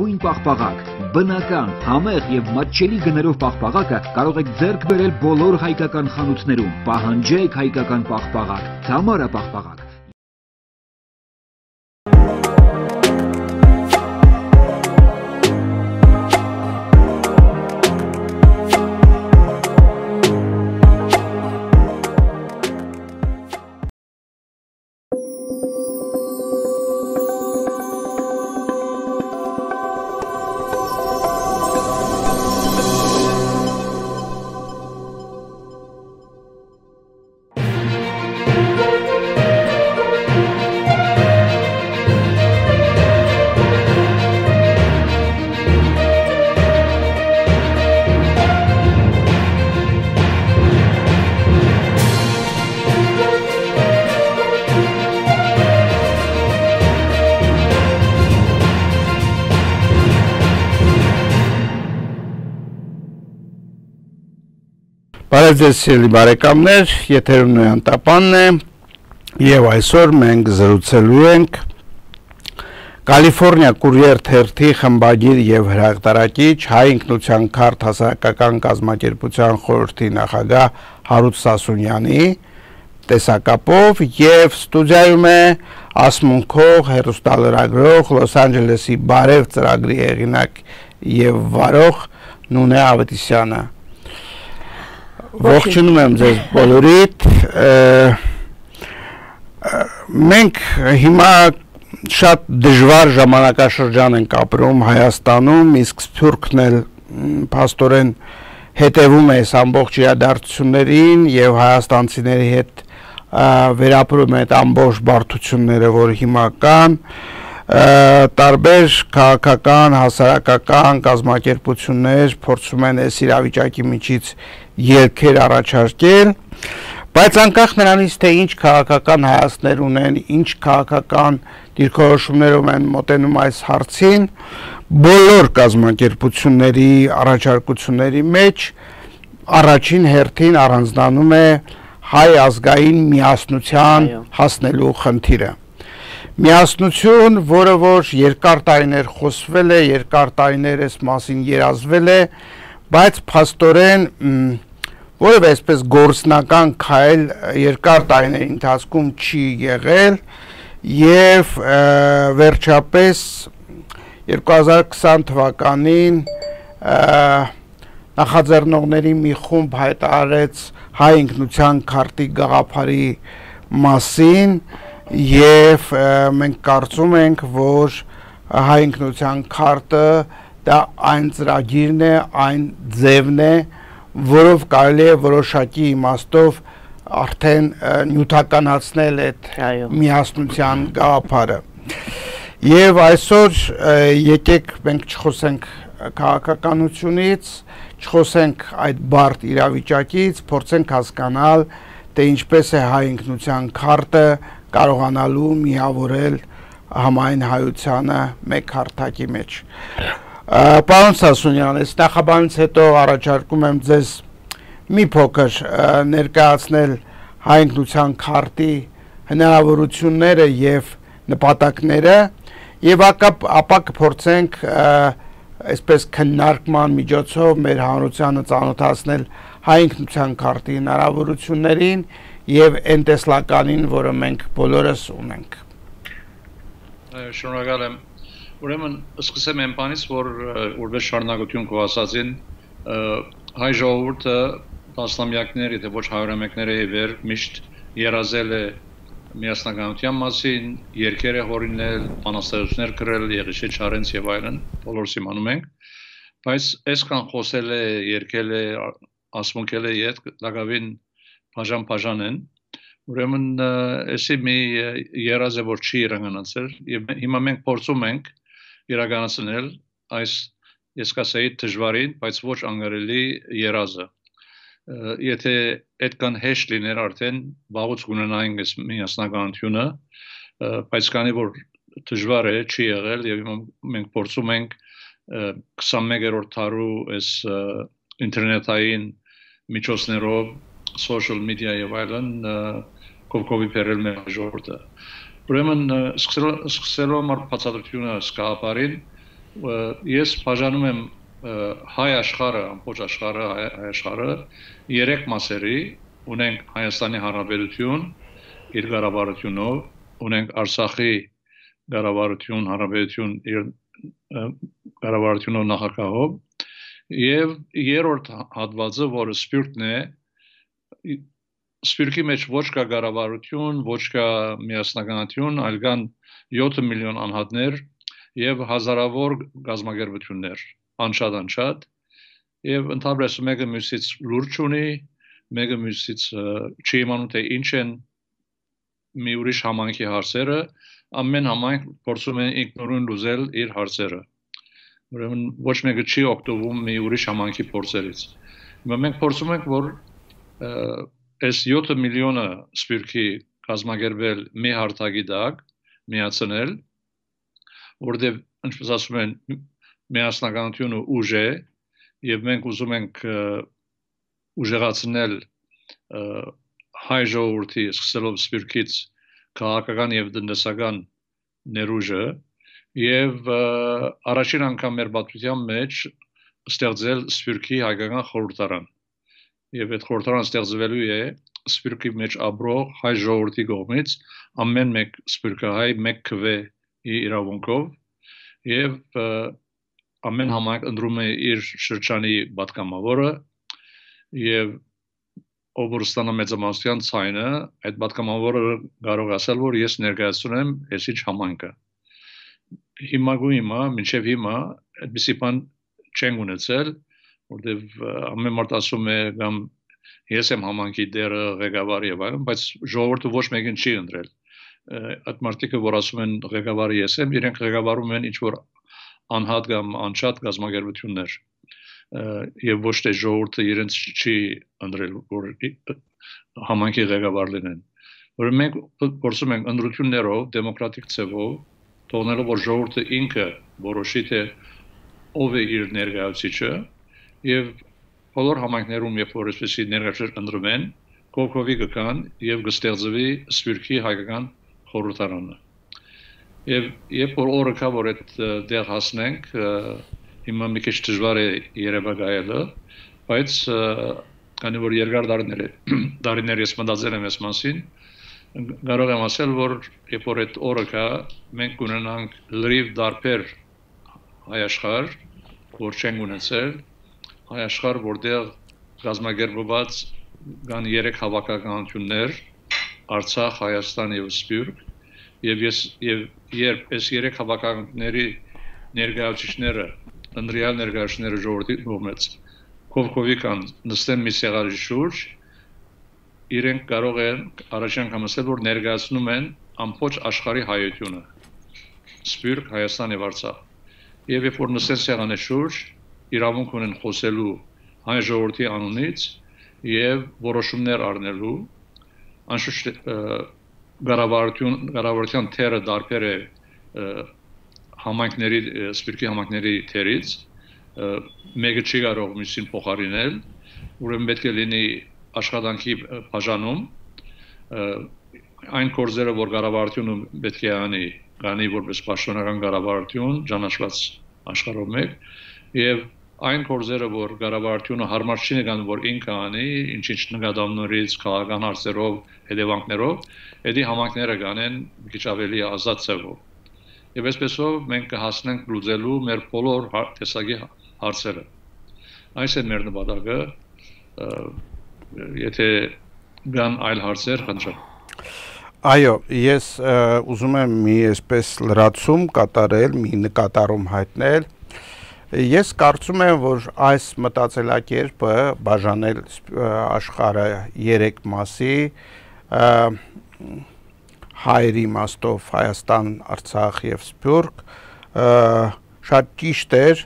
լավագույն պաղպաղակ, բնական, համեղ եւ մատչելի գներով պաղպաղակը կարող եք ձեռք բերել բոլոր հայկական խանութներում։ Պահանջեք հայկական պաղպաղակ, Թամարա պաղպաղակ։ Բարև ձեզ սիրելի բարեկամներ, եթերում Նոյան Տապանն է եւ այսօր մենք զրուցելու ենք Կալիֆոռնիա Կուրիեր թերթի խմբագիր եւ հրատարակիչ Հայ ինքնության քարտ հասարակական կազմակերպության խորհրդի նախագահ Հարութ Սասունյանի տեսակապով եւ ստուդիայում է ասմունքող հեռուստալրագրող Լոս Անջելեսի Բարև ծրագրի հեղինակ եւ վարող Նունե Ավետիսյանը Ողջունում եմ ձեզ բոլորիդ, մենք հիմա շատ դժվար ժամանակաշրջան ենք ապրում Հայաստանում, իսկ Սփյուռքն էլ փաստորեն հետևում է այս ամբողջ իրադարձություններին եւ հայաստանցիների հետ վերապրում է այդ ամբողջ բարդությունները, որ հիմա կան, տարբեր քաղաքական, հասարակական կազմակերպություններ փորձում են այս իրավիճակի միջից ելքեր առաջարկել, բայց անկախ նրանից, թե ինչ քաղաքական հայացքներ ունեն, ինչ քաղաքական դիրքորոշումներով են մոտենում այս հարցին, բոլոր կազմակերպությունների առաջարկությունների մեջ առաջին հերթին առանձնանում է հայ ազգային միասնության հասնելու խնդիրը։ Միասնություն, որը որ երկար տարիներ խոսվել է, երկար տարիներ այս մասին երազվել է, բայց փաստորեն որևէ այսպես գործնական քայլ երկար տարիների ընթացքում չի եղել եւ վերջապես 2020 թվականին նախաձեռնողների մի խումբ հայտարարեց հայ ինքնության քարտի գաղափարի մասին եւ մենք կարծում ենք, որ հայ ինքնության քարտը դա այն ծրագիրն է, այն ձևն է, որով կարելի է որոշակի իմաստով արդեն նյութականացնել այդ միասնության գաղափարը։ Եվ այսօր եկեք մենք չխոսենք քաղաքականությունից, չխոսենք այդ բարդ իրավիճակից, փորձենք հասկանալ, թե ինչպես է հայ ինքնության քարտը կարողանալու միավորել համայն հայությանը մեկ հարթակի մեջ։ Պարոն Սասունյան, այս նախաբանից հետո առաջարկում եմ ձեզ մի փոքր ներկայացնել հայ ինքնության քարտի հնարավորությունները եւ նպատակները եւ ապա կփորձենք այսպես քննարկման միջոցով մեր հանրությանը ծանոթացնել հայ ինքնության քարտի հնարավորություններին եւ այն տեսլականին, որը մենք բոլորս ունենք։ Շնորհակալ եմ։ Ուրեմն սկսեմ այն բանից, որ որպես շարունակություն քո ասածին հայ ժողովուրդը տասնամյակներ, եթե ոչ հարյուրամյակներ է վեր միշտ երազել է միասնականության մասին, երկեր է հորինել, բանաստեղծություններ գրել, Եղիշե Չարենց եւ այլն, բոլորս իմանում ենք, բայց այսքան խոսել է, երգել է, ասմունքել է իդ լագավին բաժան են, ուրեմն էսի մի երազ է, որ չի իրականացել եւ հիմա մենք փորձում ենք իրականացնել այս ես կասեի դժվարին, բայց ոչ անգարելի երազը։ Եթե այդքան հեշտ լիներ արդեն վաղուց կունենայինք այս միասնականությունը, բայց քանի որ դժվար է, չի եղել եւ մենք փորձում ենք 21-րդ դարու այս ինտերնետային միջոցներով, social media եւ այլն կողքովի բերել մեր ժողովուրդը։ Ուրեմն սկսելով մեր բացատրությունը սկավարին ես բաժանում եմ հայ աշխարհը, ամբողջ աշխարհը, հայ աշխարհը 3 մասերի, ունենք Հայաստանի Հանրապետություն իր ղարավարությունով, ունենք Արցախի ղարավարություն, հանրապետություն իր ղարավարությունով նախագահով եւ երրորդ հատվածը, որը Սփյուռքն է, Սփյուռքի մեջ ոչ կա ղարավարություն, ոչ կա միասնականություն, այլ կան 7 միլիոն անհատներ եւ հազարավոր գազագերբություններ, անշատ եւ ընդհանրապես մեկը մյուսից լուրջ ունի, մեկը մյուսից չի իմանում թե ինչ են մի ուրիշ համայնքի հարցերը, ամեն համայնք փորձում է ինքնուրույն լուծել իր հարցերը։ Ուրեմն ոչ մեկը չի օգտվում մի ուրիշ համայնքի փորձերից։ Հիմա մենք փորձում ենք, որ այս 7 միլիոնը Սփյուռքի կազմակերպել մի հարթակի տակ, միացնել, որտեղ ինչպես ասում են, միասնականությունը ուժ է, եւ մենք ուզում ենք ուժեղացնել հայ ժողովրդի սկսելով Սփյուռքից քաղաքական եւ տնտեսական ներուժը եւ առաջին անգամ մեր պատմության մեջ ստեղծել Սփյուռքի հայկական խորհրդարան եւ այդ խորհրդարանը ստեղծվելու է Սփյուռքի մեջ ապրող հայ ժողովրդի կողմից ամեն մեկ սփյուռքահայ մեկ քվե իրավունքով եւ ամեն համայնք ընտրում է իր շրջանի պատգամավորը եւ ով ստանա մեծամասնության ցայնը, այդ պատգամավորը կարող ասել, որ ես ներկայացնում այսիչ համայնքը։ Հիմա, մինչև հիմա, այդպիսի բան չեն ունեցել, որտեղ ամեն մարդ ասում է կամ ես եմ համայնքի դերը ղեկավարը եւ այլն, բայց ժողովուրդը ոչ մեկին չի ընտրել։ Այդ մարդիկը, որ ասում են ղեկավարը ես եմ, իրենք ղեկավարում են ինչ որ անհատ կամ անշատ գազագերբություններ եւ ոչ թե ժողովուրդը իրենց չի ընտրել որ համայնքի ղեկավար լինեն։ Որ մենք փորձում ենք ընտրություններով, դեմոկրատիկ ձևով թողնելով որ ժողովուրդը ինքը որոշի թե ով է իր ներկայացուցիչը եւ բոլոր համայնքներում երբ որ այսպեսի ներկայացուցիչ ընտրում են, կողքովի կգան եւ կստեղծվի Սփյուռքի հայկական խորհրդարանը։ Եվ երբ որ օրը կա որ այդ դեր հասնենք, հիմա մի քիչ դժվար է երևակայելը, բայց քանի որ երկար տարիներ ես մտածել եմ այս մասին, կարող եմ ասել, որ երբ որ այդ օրը կա, մենք կունենանք լրիվ դարբեր հայ աշխարհ, որ չենք ունեցել, հայ աշխարհ, որտեղ կազմակերպված կան 3 հավաքականություններ, Արցախ, Հայաստան եւ Սփյուռք, եւ երբ այս 3 հավաքականությունների ներկայացուցիչները ընտրյալ ներկայացուցիչները ժողովրդի կողմից կողքովի կան նստեն մի սեղանի շուրջ իրենք կարող են առաջին անգամ ասել որ ներկայացնում են ամբողջ աշխարհի հայությունը Սփյուռք, Հայաստան եւ Արցախ եւ երբ որ նստեն սեղանի շուրջ իրավունք ունեն խոսելու հայ ժողովրդի անունից եւ որոշումներ առնելու անշուշտ Գարավարության թերը դարբեր է համայնքների Սփյուռքի համայնքների թերից մեկը չի կարող մյուսին փոխարինել ուրեմն պետք է լինի աշխատանքի բաժանում այն կորձերը որ Գարավարությունը պետք է անի որպես պաշտոնական Գարավարություն ճանաչված աշխարհով մեկ եւ այն կորձերը որ Գարավարությունը հարմար չի նկատում որ ինքը անի ինչ նկատողներից քաղաքական հարցերով հետևանքներով Էդի համայնքները կանեն մի քիչ ավելի ազատ ձևով։ Եվ այսպեսով մենք կհասնենք լուծելու մեր բոլոր տեսակի հարցերը։ Այս է մեր նպատակը, եթե կան այլ հարցեր, խնդրեմ։ Այո, ես ուզում եմ մի այսպես լրացում կատարել, մի նկատառում հայտնել։ Ես կարծում եմ, որ այս մտածելակերպը բաժանել աշխարհը 3 մասի հայերի իմաստով Հայաստան, Արցախ եւ Սփյուռք շատ ճիշտ էր,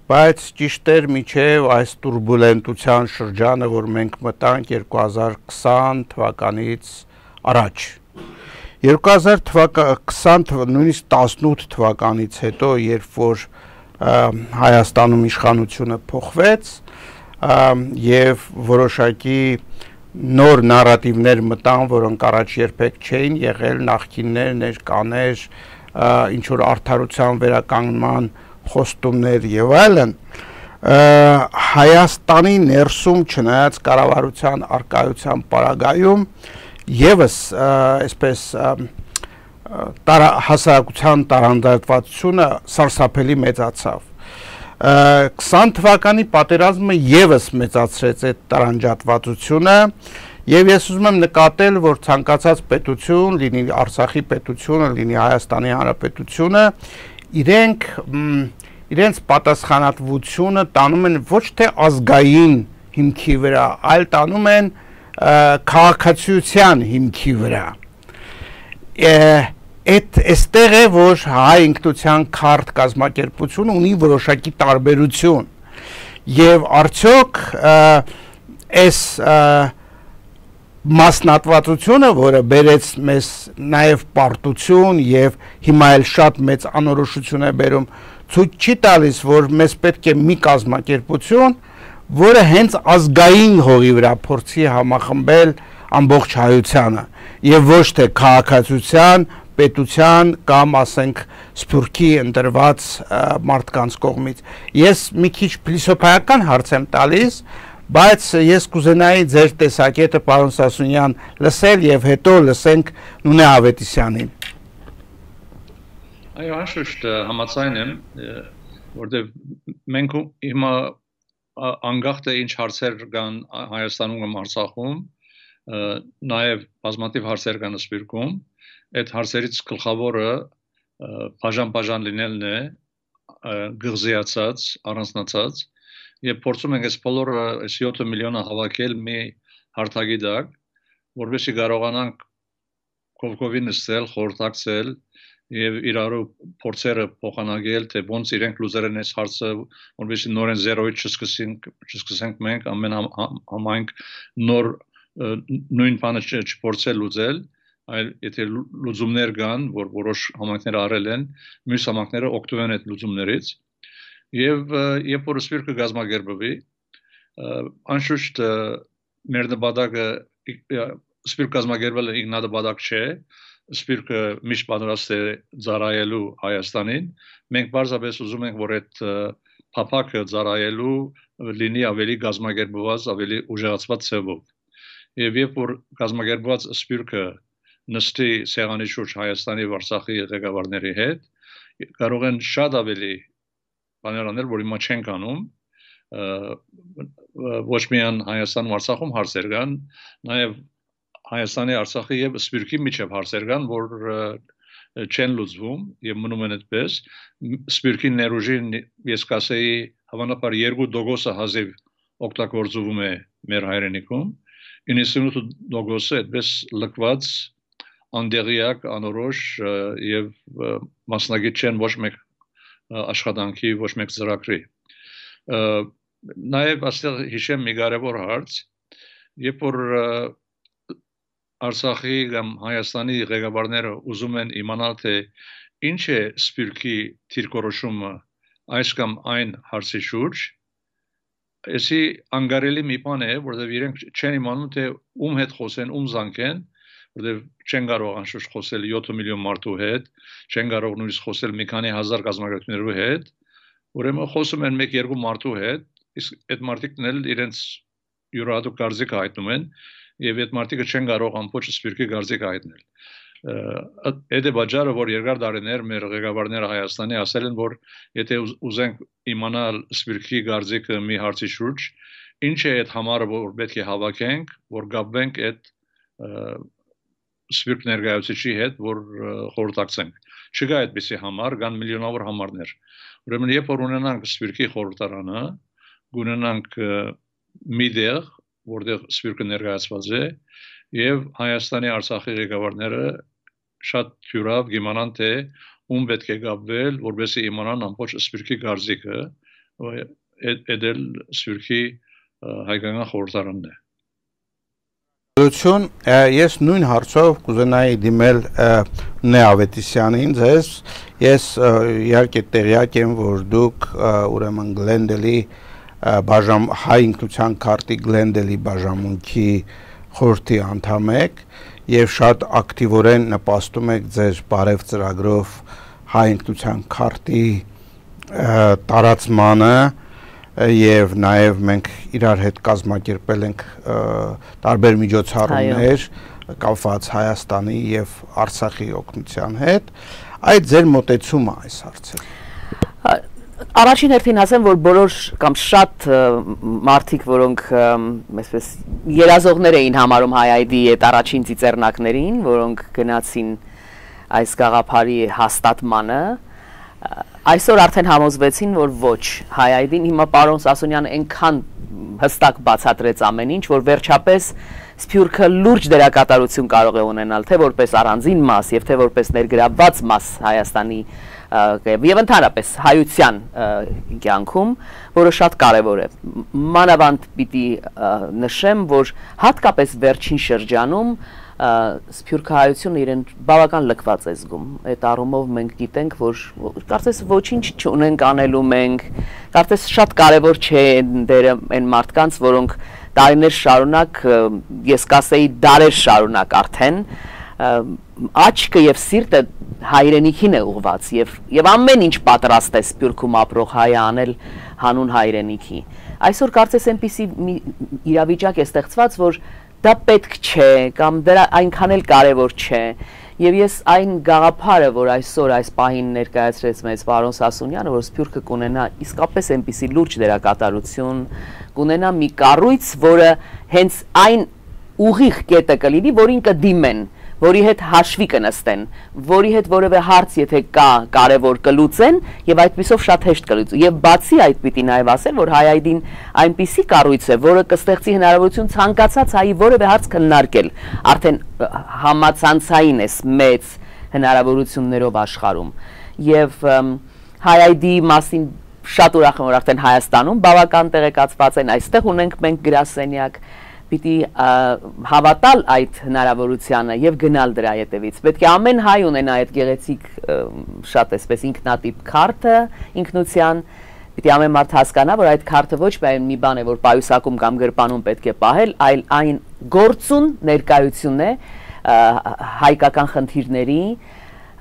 բայց ճիշտ էր միջև այս տուրբուլենտության շրջանը, որ մենք մտանք 2020 թվականից առաջ 2020 նույնիսկ 18 թվականից հետո, երբ որ Հայաստանում իշխանությունը փոխվեց եւ որոշակի նոր նարատիվներ մտան, որոնք առաջ երբեք չէին եղել, նախկիններ, ներկաներ, ինչ որ արդարության վերականգնման խոստումներ եւ այլն, Հայաստանի ներսում չնայած կառավարության արկայության պարագայում եւս այսպես հասարակության տարանձնվածությունը սարսափելի մեծացավ 20 թվականի պատերազմը եւս մեծացրեց այդ տարանջատվածությունը եւ ես ուզում եմ նկատել, որ ցանկացած պետություն, լինի Արցախի պետությունը, լինի Հայաստանի Հանրապետությունը, իրենց պատասխանատվությունը տանում են ոչ թե ազգային հիմքի վրա, այլ տանում են քաղաքացիության հիմքի վրա։ Այստեղ է, որ հայ ինքնության քարտ կազմակերպությունը ունի որոշակի տարբերություն եւ արդյոք այս մասնատվածությունը, որը բերեց մեզ նաև պարտություն եւ հիմա էլ շատ մեծ անորոշություն է բերում, ցույց չի տալիս, որ մեզ պետք է մի կազմակերպություն, որը հենց ազգային հողի վրա փորձի համախմբել ամբողջ հայությանը եւ ոչ թե քաղաքացիության, պետության կամ ասենք սփյուռքի ընտրված մարդկանց կողմից։ Ես մի քիչ փիլիսոփայական հարց եմ տալիս, բայց ես կուզենայի ձեր տեսակետը, պարոն Սասունյան, լսել եւ հետո լսենք Նունե Ավետիսյանին։ Այո, անշուշտ համաձայն եմ, որտեղ մենք հիմա անկախ թե ինչ հարցեր կան Հայաստանում կամ Արցախում, նաեւ բազմաթիվ հարցեր կան Սփյուռքում, այդ հարցերից գլխավորը բաժան լինելն է, գղզիացած, առանձնացած եւ փորձում ենք այս բոլորը 7 միլիոնը հավաքել մի հարթակի տակ, որովհետեւ կարողանանք կողքովին նստել, խորհրդակցել եւ իրարու փորձերը փոխանակել, թե ոնց իրենք լուծել են այս հարցը, որովհետեւ նորեն 0-ից չսկսենք մենք ամեն համայնք նոր նույն բանը չփորձել լուծել, այլ եթե լուծումներ կան, որ որոշ համայնքներ արել են, մյուս համայնքները օգտվել են այդ լուծումներից եւ երբ որ Սփյուռքը գազագերբվի, անշուշտ մեր նպատակը Սփյուռք գազագերբելը ինքնաբադակ չէ, Սփյուռքը միշտ պատրաստ է ծառայելու Հայաստանին, մենք բարձրապես ուզում ենք, որ այդ փափակը ծառայելու լինի ավելի գազագերբված, ավելի ուժեղացված ձևով։ Եվ երբ որ գազագերբված Սփյուռքը նստի սեղանի շուրջ Հայաստանի եւ Արցախի ղեկավարների հետ, կարող են շատ ավելի բաներ անել, որ հիմա չենք անում, ոչ միայն Հայաստանում, Արցախում հարցեր կան, նաև Հայաստանի, Արցախի եւ Սփյուռքի միջև հարցեր կան, որ չեն լուծվում եւ մնում են այդպես։ Սփյուռքի ներուժին ես կասեի հավանաբար 2% հազիվ օգտագործվում է մեր հայրենիքում, 98% այդպես լքված, անդեղյակ, անորոշ եւ մասնագետ չեն ոչ մեկ աշխատանքի, ոչ մեկ ծրագրի։ Նաև այստեղ հիշեմ մի կարևոր հարց, երբ որ Արցախի կամ Հայաստանի ղեկավարները ուզում են իմանալ, թե ինչ է Սփյուռքի դիրքորոշումը այս կամ այն հարցի շուրջ, այսի անկարելի մի բան է, որովհետև իրենք չեն իմանում, թե ում հետ խոսեն, ում զանգեն, որովհետև չեն կարող անշուշտ խոսել 7 միլիոն մարդու հետ, չեն կարող նույնիսկ խոսել մի քանի հազար գազագերբներու հետ, ուրեմն խոսում են 1-2 մարդու հետ, իսկ այդ մարդիկն էլ իրենց յուրահատուկ կարծիք հայտնում են, եւ այդ մարդիկը չեն կարող ամբողջ Սփյուռքի կարծիք հայտնել։ Այդ է պատճառը, որ երկար տարիներ մեր ղեկավարները Հայաստանի ասել են, որ եթե ուզենք իմանալ Սփյուռքի կարծիքը մի հարցի շուրջ, ինչ է այդ համարը, որ պետք է հավաքենք, որ գաբվենք այդ Սփյուռք ներկայացուցիչի հետ, որ խորհրդակցենք։ Չկա այդպիսի համար, կան միլիոնավոր համարներ։ Ուրեմն երբ որ ունենանք Սփյուռքի խորհրդարանը, ունենանք մի տեղ, որտեղ Սփյուռքը ներկայացված է, եւ Հայաստանի, Արցախի ղեկավարները շատ թյուրավ իմանան, թե ում պետք է գաբվել, որովհետեւ իմանան ամբողջ Սփյուռքի կարծիքը, այդ էլ Սփյուռքի հայկական խորհրդարանն է։ Ես նույն հարցով կուզենայի դիմել Նե Ավետիսյանին ձեզ, ես իհարկե տեղյակ եմ, որ դուք ուրեմն Գլենդելի հայ ինքնության քարտի Գլենդելի բաժանմունքի խորհրդի անդամ եք եւ շատ ակտիվորեն նպաստում եք ձեր բարև ծրագրով հայ ինքնության քարտի տարածմանը եւ նաեւ մենք իրար հետ կազմակերպել ենք տարբեր միջոցառումներ կապված Հայաստանի եւ Արցախի օգնության հետ այդ ձեր մոտեցումը այս հարցերին Առաջին հերթին ասեմ, որ բոլոր կամ շատ մարդիկ, որոնք այսպես երազողներ էին համարում HiID-ի այդ առաջին ծիծեռնակներին, որոնք գնացին այս գաղափարի հաստատմանը, այսօր արդեն համոզվեցին, որ ոչ, HiID-ին հիմա պարոն Սասունյանը այնքան հստակ բացատրեց ամեն ինչ, որ վերջապես Սփյուռքը լուրջ դերակատարություն կարող է ունենալ, թե որպես առանձին մաս եւ թե որպես ներգրավված մաս Հայաստանի եւ ընդհանրապես հայության կյանքում, որը շատ կարեւոր է։ Մանավանդ պիտի նշեմ, որ հատկապես վերջին շրջանում Սփյուռքահայությունը իրեն բավական լքված է զգում։ Այդ առումով մենք գիտենք, որ կարծես ոչինչ չունենք անելու մենք, կարծես շատ կարեւոր չէ դերը այն մարդկանց, որոնք տարիներ շարունակ, ես կասեի դարեր շարունակ արդեն աչքը եւ սիրտը հայրենիքին է ուղված եւ ամեն ինչ պատրաստ է Սփյուռքում ապրող հայը անել հանուն հայրենիքի։ Այսօր կարծես այնպիսի իրավիճակ է ստեղծված, որ դա պետք չէ կամ դրա այնքան էլ կարևոր չէ եւ ես այն գաղափարը, որ այսօր այս պահին ներկայացրեց մեզ պարոն Սասունյանը, որ Սփյուռքը կունենա իսկապես այնպիսի լուրջ դերակատարություն, կունենա մի կառույց, որը հենց այն ուղիղ կետը կլինի, որին կդիմեն, որի հետ հաշվի կնստեն, որի հետ որևէ հարց եթե կա կարևոր կլուծեն եւ այդպիսով շատ հեշտ կլուծեն։ Եվ բացի այդ պիտի նաեւ ասել, որ HiID-ին այնպիսի կառույց է, որը կստեղծի հնարավորություն ցանկացած հայի որևէ հարց քննարկել, արդեն համացանցային է մեծ հնարավորություններով աշխարհում։ Եվ HiID-ի մասին շատ ուրախ եմ, որ արդեն Հայաստանում բավական տեղեկացված են, այստեղ ունենք մենք գրասենյակ պիտի հավատալ այդ հնարավորությանը եւ գնալ դրա հետևից։ Պետք է ամեն հայ ունենա այդ գեղեցիկ շատ էսպես ինքնատիպ քարտը, ինքնության, պիտի ամեն մարդ հասկանա, որ այդ քարտը ոչ միայն մի բան է, որ պայուսակում կամ գրպանում պետք է պահել, այլ այն գործուն ներկայություն է հայկական խնդիրների,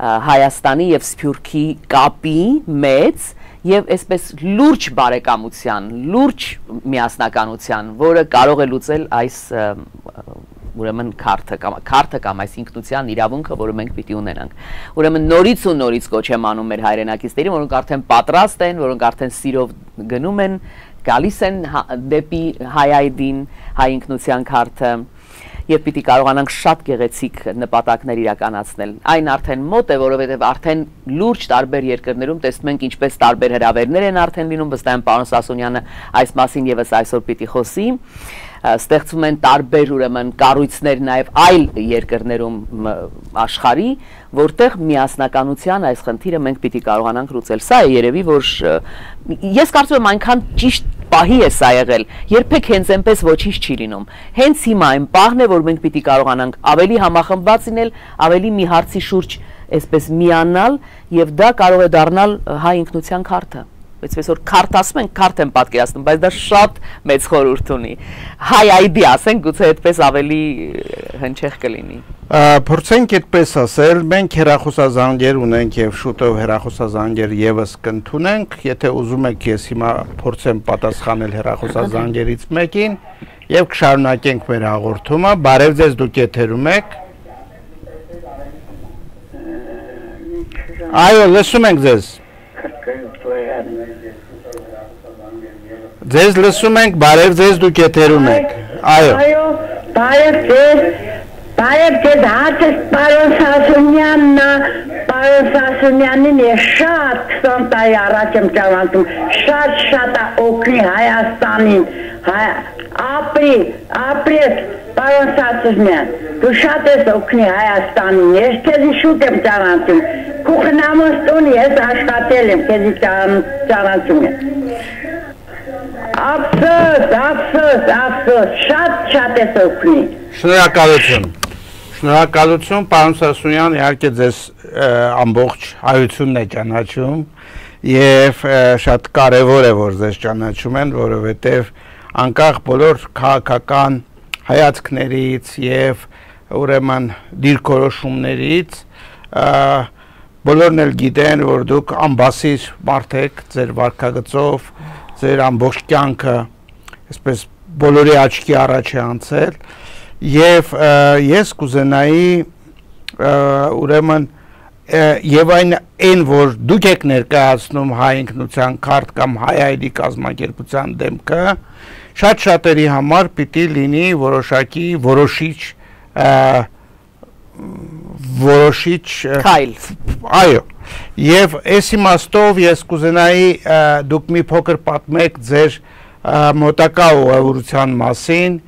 Հայաստանի եւ Սփյուռքի կապի մեծ եւ այսպես լուրջ բարեկամության, լուրջ միասնականության, որը կարող է լուծել այս ուրեմն քարտը կամ այս ինքնության իրավունքը, որը մենք պիտի ունենանք։ Ուրեմն նորից ու նորից կոչ եմ անում մեր հայրենակիցներին, որոնք արդեն պատրաստ են, որոնք արդեն սիրով գնում են, գալիս են դեպի HiID-ին, հայ ինքնության քարտը եւ պիտի կարողանանք շատ գեղեցիկ նպատակներ իրականացնել։ Այն արդեն մոտ է, որովհետեւ արդեն լուրջ տարբեր երկրներում տեսնում ենք ինչպես տարբեր հրավերներ են արդեն լինում, վստահ եմ պարոն Սասունյանը այս մասին եւս այսօր պիտի խոսի։ Ստեղծվում են տարբեր ուրեմն կառույցներ նաև այլ երկրներում աշխարհի, որտեղ միասնականության այս խնդիրը մենք պիտի կարողանանք լուծել։ Սա է երևի, որ ես կարծում եմ այնքան ճիշտ պահի է սա եղել, երբեք հենց այնպես ոչինչ չի լինում։ Հենց հիմա այն պահն է, որ մենք պիտի կարողանանք ավելի համախմբված լինել, ավելի մի հարցի շուրջ այսպես միանալ եւ դա կարող է դառնալ հայ ինքնության քարտը։ Այսպես որ քարտ ասում են, քարտ եմ պատկերացնում, բայց դա շատ մեծ խորհուրդ ունի։ HiID ասենք, գուցե այդպես ավելի հնչեղ կլինի։ Փորձենք այդպես ասել, մենք հեռախոսազանգեր ունենք եւ շուտով հեռախոսազանգեր եւս կընդունենք, եթե ուզում եք ես հիմա փորձեմ պատասխանել հեռախոսազանգերից մեկին եւ կշարունակենք մեր հաղորդումը։ Բարև ձեզ, դուք եթերում եք։ Այո, լսում ենք ձեզ։ Ձեզ լսում ենք, բարև ձեզ, դուք եթերում եք։ Այո, բարև ձեզ, հատս պարոն Սասունյանին է շատ 20 տարի առաջ եմ ճանաչում, շատ օգնի Հայաստանին, ապրես պարոն Սասունյան, դու շատ ես օգնի Հայաստանին, ես քեզի շուտ եմ ճանաչում, քուխնամոս տունի ես աշխատել եմ, քեզի ճանաչում եմ։ Ափսոս, շատ ես օգնի։ Շնորհակալություն, պարոն Սասունյան, իհարկե ձեզ ամբողջ հայությունն է ճանաչում եւ շատ կարեւոր է, որ ձեզ ճանաչում են, որովհետեւ անկախ բոլոր քաղաքական հայացքներից եւ ուրեմն դիրքորոշումներից բոլորն էլ գիտեն, որ դուք ամբասիր մարդ եք, ձեր վարքագծով, ձեր ամբողջ կյանքը, այսպես բոլորի աչքի առաջ է անցել, եւ ես կուզենայի ուրեմն եւ այն որ դուք եք ներկայացնում հայ ինքնության քարտ կամ հայ այդի կազմակերպության դեմքը շատ շատերի համար պիտի լինի որոշակի որոշիչ քայլ այո եւ այս իմաստով ես կուզենայի դուք մի փոքր պատմեք ձեր մոտակա ուղևորության մասին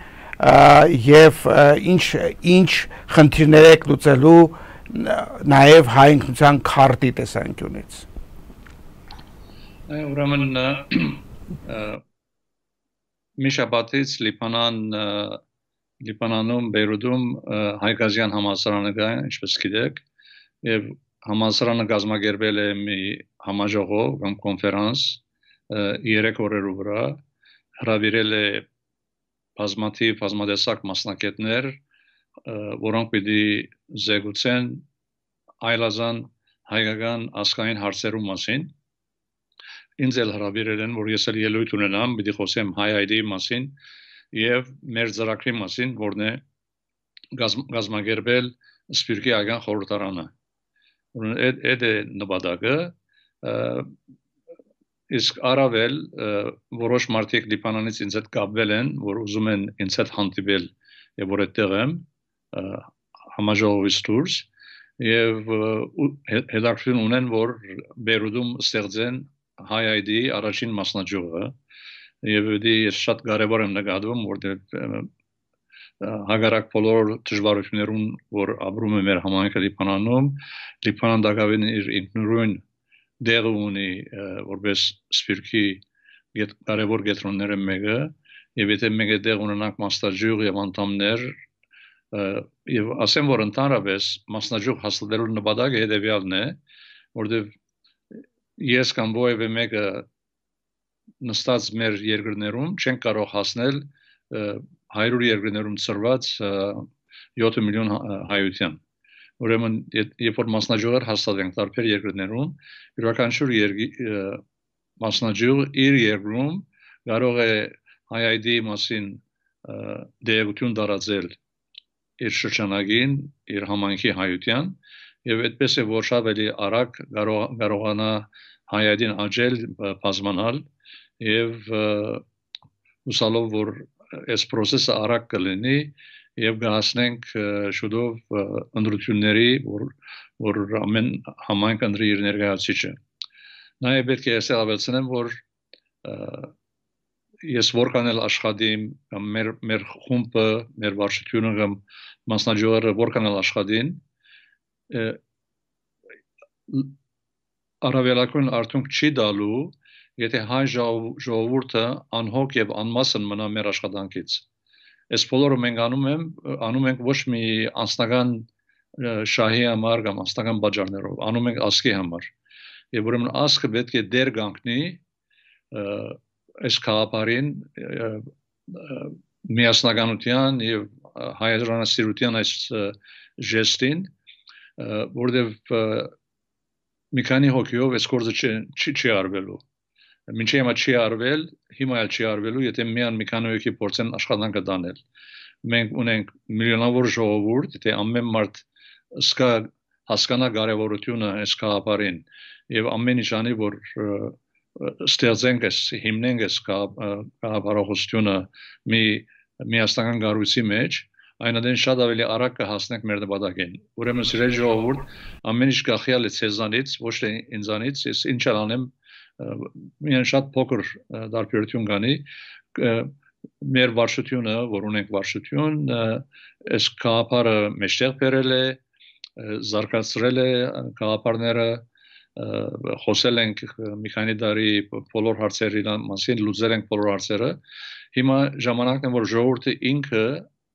եւ ինչ խնդիրներ եք լուծելու նաև հայ ինքնության քարտի տեսանկյունից ուրեմն մի շաբաթից Լիբանանում Բեյրութում հայկազյան համալսարանը կա, ինչպես գիտեք, եւ համալսարանը կազմակերպել է մի համաժողով կամ կոնֆերանս 3 օրերու վրա, հրավիրել է բազմատեսակ մասնակիցներ, որոնք պիտի զեկուցեն այլազան հայկական ազգային հարցերու մասին։ Ինձ էլ հրավիրել են, որ ես էլ ելույթ ունենամ, պիտի խոսեմ հայ այդի մասին եւ մեր ծրագրի մասին, որն է կազմակերպել Սփյուռքի հայկական խորհրդարանը։ Այդ է նպատակը, իսկ առավել որոշ մարդիկ Լիբանանից ինձ հետ կապվել են, որ ուզում են ինձ հետ հանդիպել եւ որ այդտեղ եմ համաժողովից դուրս եւ հետաքրքրություն ունեն, որ Բեյրութում ստեղծեն հայ այդի առաջին մասնաճյուղը եւ ես շատ կարեւոր եմ նկատում, որտեղ հագարակ բոլոր դժվարություններուն, որ ապրում է մեր համայնքը Լիբանանում, Լիբանան դակավին իր ինքնուրույն դեղը ունի, որպես Սփյուռքի կարևոր կետրոնները մեկը, եւ եթե մենք այդտեղ ունենանք մասնաճյուղ եւ անդամներ, եւ ասեմ, որ ընդհանրապես մասնաճյուղ հաստատելու նպատակը հետեւյալն է, որտեղ ես կամ որևէ մեկը նստած մեր երկրներում չեն կարող հասնել 100 երկրներում ծրված 7 միլիոն հայության։ Ուրեմն, երբ որ մասնաճյուղեր հաստատենք տարբեր երկրներում, յուրաքանչյուր մասնաճյուղ իր երկրում կարող է հայ այդի մասին դերակցություն տարածել իր շրջանագին, իր համայնքի հայության, եւ այդպես է որ շատ ավելի արագ կարողանա հայ այդին աճել, բազմանալ եւ հուսալով որ այս process-ը արագ կլինի եւ կհասնենք շուտով ընտրությունների, որ ամեն համայնք ընտրի իր ներկայացուցիչը։ Նաեւ պետք է ասեմ, որ ես որքան էլ աշխատիմ, մեր խումբը, մեր վարչությունը կամ մասնաճյուղերը որքան էլ աշխատին, առավելագույն արդյունք չի տալու, եթե հայ ժողովուրդը անհոգ եւ անմասն մնա մեր աշխատանքից։ Այս բոլորը մենք անում ենք ոչ մի անձնական շահի համար կամ անձնական բաժաններով, անում ենք ազգի համար։ Եվ ուրեմն ազգը պետք է դեր կանգնի այս քաղաքին միասնականության եւ հայրենասիրության այս ժեստին, որտեղ մի քանի հոգիով այս գործը չի արվելու։ Մինչև հիմա չի արվել, հիմա էլ չի արվելու, եթե միան մի քանի հոգի փորձեն աշխատանքը տանել։ Մենք ունենք միլիոնավոր ժողովուրդ, եթե ամեն մարդ հասկանա կարևորությունը այս քաղաքին եւ ամեն ինչ անի, որ ստեղծենք այս հիմնենք այս քաղաքականությունը մի միասնական կառույցի մեջ, այնադեն շատ ավելի արագ կհասնենք մեր նպատակին։ Ուրեմն սիրելի ժողովուրդ, ամեն ինչ գախյալ է ցեզանից, ոչ թե ինձանից, ես ինչ անեմ, միայն շատ փոքր դարբերություն կանի, մեր վարչությունը, որ ունենք վարչություն, այս քաղաքարը մեջտեղ բերել է, զարգացրել է քաղաքարները, խոսել ենք մի քանի տարի բոլոր հարցերի մասին, լուծել ենք բոլոր հարցերը։ Հիմա ժամանակն է, որ ժողովուրդը ինքը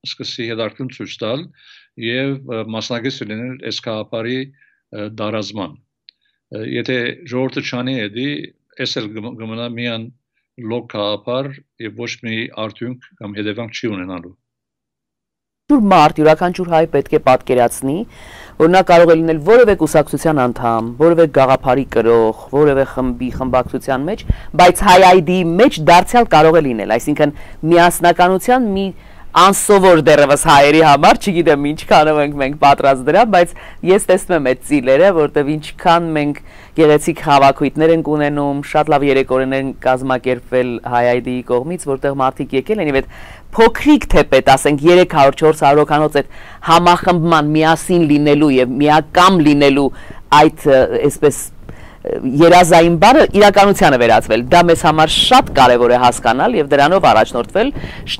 սկսի հետաքրքրություն ցույց տալ եւ մասնակից լինել այս քաղաքարի դարազման։ Եթե ժողովուրդը չանի էդի, այս էլ կմնա միան լոկ քաղաքար եւ ոչ մի արդյունք կամ հետևանք չի ունենալու։ մարդ, յուրաքանչյուր հայ պետք է պատկերացնի, որ նա կարող է լինել որևէ կուսակցության անդամ, որևէ գաղափարի կրող, որևէ խմբակցության մեջ, բայց հայ ID-ի մեջ դարձյալ կարող է լինել, այսինքն միասնականության մի անսովոր դեռևս հայերի համար, չգիտեմ ինչքանով ենք մենք պատրաստ դրա, բայց ես տեսնում եմ այդ ծիլերը, որտեղ ինչքան մենք գեղեցիկ հավաքույթներ ենք ունենում, շատ լավ երեկոներ են կազմակերպվել հայ ID-ի կողմից, որտեղ մարդիկ եկել են եւ այդ փոքրիկ թեպետ, ասենք 300-400 հոգանոց այդ համախմբման միասին լինելու եւ միակամ լինելու այդ այսպես երազային բառը իրականությանը վերածվել, դա մեզ համար շատ կարևոր է հասկանալ եւ դրանով առաջնորդվել,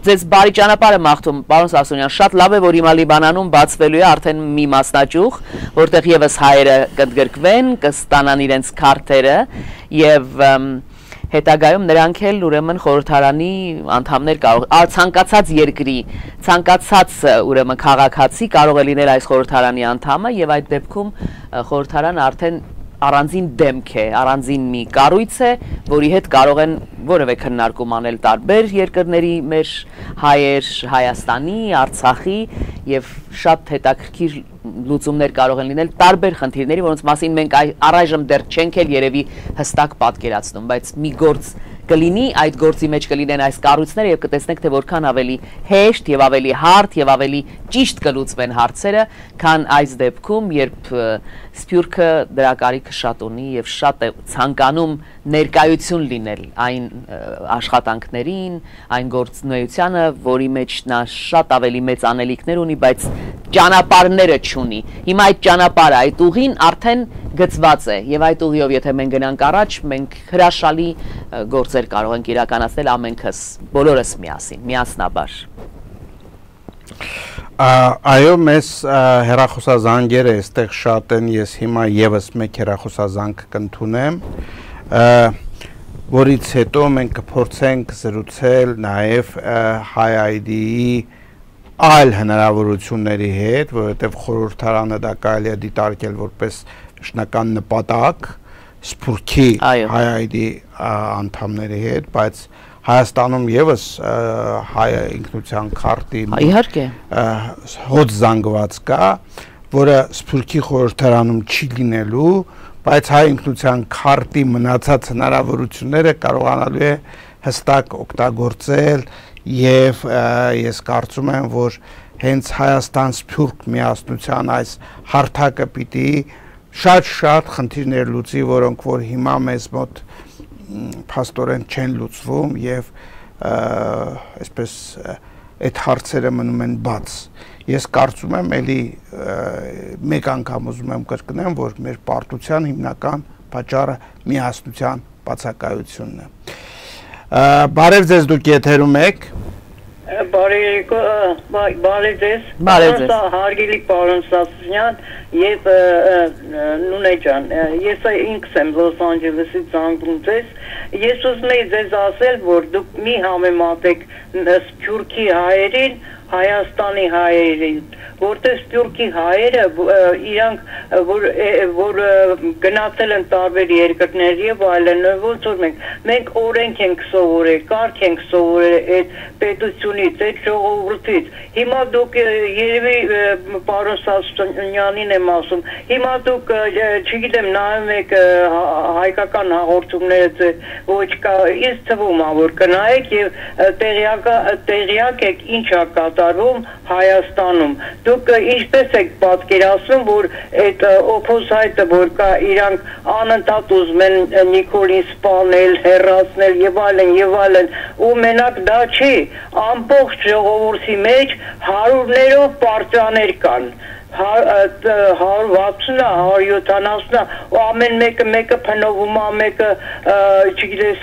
ձեզ բարի ճանապարհ եմ մաղթում, պարոն Սասունյան, շատ լավ է, որ հիմա Լիբանանում բացվելու է արդեն մի մասնաճյուղ, որտեղ եւս հայերը կընդգրկվեն, կստանան իրենց քարտերը եւ հետագայում նրանք էլ ուրեմն խորհրդարանի անդամներ կարող ցանկացած երկրի ցանկացած ուրեմն քաղաքացի կարող է լինել այս խորհրդարանի անդամը եւ այդ դեպքում խորհրդարանը արդեն առանձին դեմք է, առանձին մի կառույց է, որի հետ կարող են որևէ քննարկում անել տարբեր երկրների մեր հայեր, Հայաստանի, Արցախի եւ շատ հետաքրքիր լուծումներ կարող են լինել տարբեր խնդիրների, որոնց մասին մենք առայժմ դեռ չենք էլ երևի հստակ պատկերացնում, բայց մի գործ կլինի, այդ գործի մեջ կլինեն այս կառույցները եւ կտեսնեք թե որքան ավելի հեշտ եւ ավելի հարթ եւ ավելի ճիշտ կլուծվեն հարցերը, քան այս դեպքում, երբ Սփյուռքը դրա կարիքը շատ ունի եւ շատ է ցանկանում ներկայություն լինել այն աշխատանքներին, այն գործունեությանը, որի մեջ նա շատ ավելի մեծ անելիքներ ունի, բայց ճանապարհները չունի։ Հիմա այդ ճանապարհը, այդ ուղին արդեն գծված է եւ այդ ուղիով եթե մենք գնանք առաջ, մենք հրաշալի գործեր կարող ենք իրականացնել ամենքս, բոլորս միասին, միասնաբար։ Այո, մեզ հեռախոսազանգերը այստեղ շատ են, ես հիմա եւս մեկ հեռախոսազանգ կընդունեմ, որից հետո մենք կփորձենք զրուցել նաեւ Հայ ID-ի այլ հնարավորությունների հետ, որովհետեւ խորհրդարանը դա կարելի է դիտարկել որպես շնական նպատակ Սփյուռքի Հայ ID-ի անդամների հետ, բայց Հայաստանում եւս հայ ինքնության քարտի հոտ զանգված կա, որը Սփյուռքի խորհրդարանում չի լինելու, բայց հայ ինքնության քարտի մնացած հնարավորությունները կարողանալու է հստակ օգտագործել եւ ես կարծում եմ, որ հենց Հայաստան-Սփյուռք միասնության այս հարթակը պիտի շատ խնդիրներ լուծի, որոնք որ հիմա մեզ մոտ փաստորեն չեն լուծվում եւ այսպես այդ հարցերը մնում են բաց։ Ես կարծում եմ, էլի մեկ անգամ ուզում եմ կրկնեմ, որ մեր պարտության հիմնական պատճառը միասնության բացակայությունն է։ Բարև ձեզ, դուք եթերում եք։ Բարև ձեզ։ Հարգելի պարոն Սասունյան եւ Նունե ջան, ես ինքս եմ Լոս Անջելեսից զանգում ձեզ։ Ես ուզում եմ ձեզ ասել, որ դուք մի համեմատեք Սփյուռքի հայերին Հայաստանի հայերին, որտեղ Սփյուռքի հայերը իրանք որ գնացել են տարբեր երկրներ եւ այլն, ոնց որ մենք օրենք ենք սովորել, կարգ ենք սովորել այդ պետությունից, այդ ժողովրդից։ Հիմա դուք երևի պարոն Սասունյանին եմ ասում, հիմա դուք չգիտեմ նայում եք հայկական հաղորդումները ոչ կա, ինձ թվում է որ կնայեք եւ տեղյակ եք ինչ է Հայաստանում դուք ինչպես եք պատկերացնում որ այդ օփոզայտը որ կա իրանք անընդհատ ուզում են Նիկոլին սպանել, հեռացնել եւ այլն ու մենակ դա չի ամբողջ ժողովրդի մեջ հարյուրներով պարտիաներ կան 160, 170 ու ամեն մեկը փնովում է, մեկը չգիտես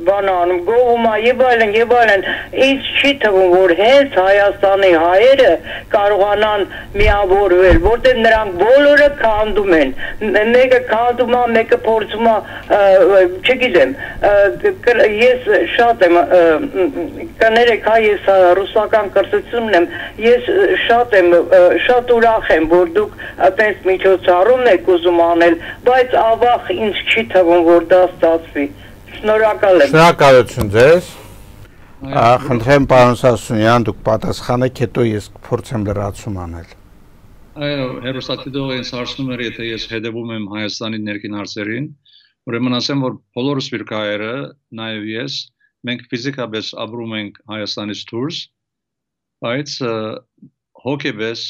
բան անում, գովում է եւ այլն, ինձ չի թվում որ հենց Հայաստանի հայերը կարողանան միավորվել, որտեղ նրանք բոլորը քանդում են, մեկը քանդում է, մեկը փորձում է, չգիտեմ, ես շատ եմ կներեք, ես ռուսական կրթությունն եմ, ես շատ ուրախ եմ, որ դուք այդպես միջոցառում եք ուզում անել, բայց ավաղ ինձ չի թվում, որ դա ստացվի։ Շնորհակալ եմ։ Շնորհակալություն ձեզ։ Խնդրեմ պարոն Սասունյան, դուք պատասխանեք, հետո ես կփորձեմ լրացում անել։ Այո, հերոստատիտողը ինձ հարցնում էր, եթե ես հետևում եմ Հայաստանի ներքին հարցերին, ուրեմն ասեմ, որ բոլոր սպիրկայերը, նաև ես, մենք ֆիզիկապես ապրում ենք Հայաստանից դուրս, բայց հոգեպես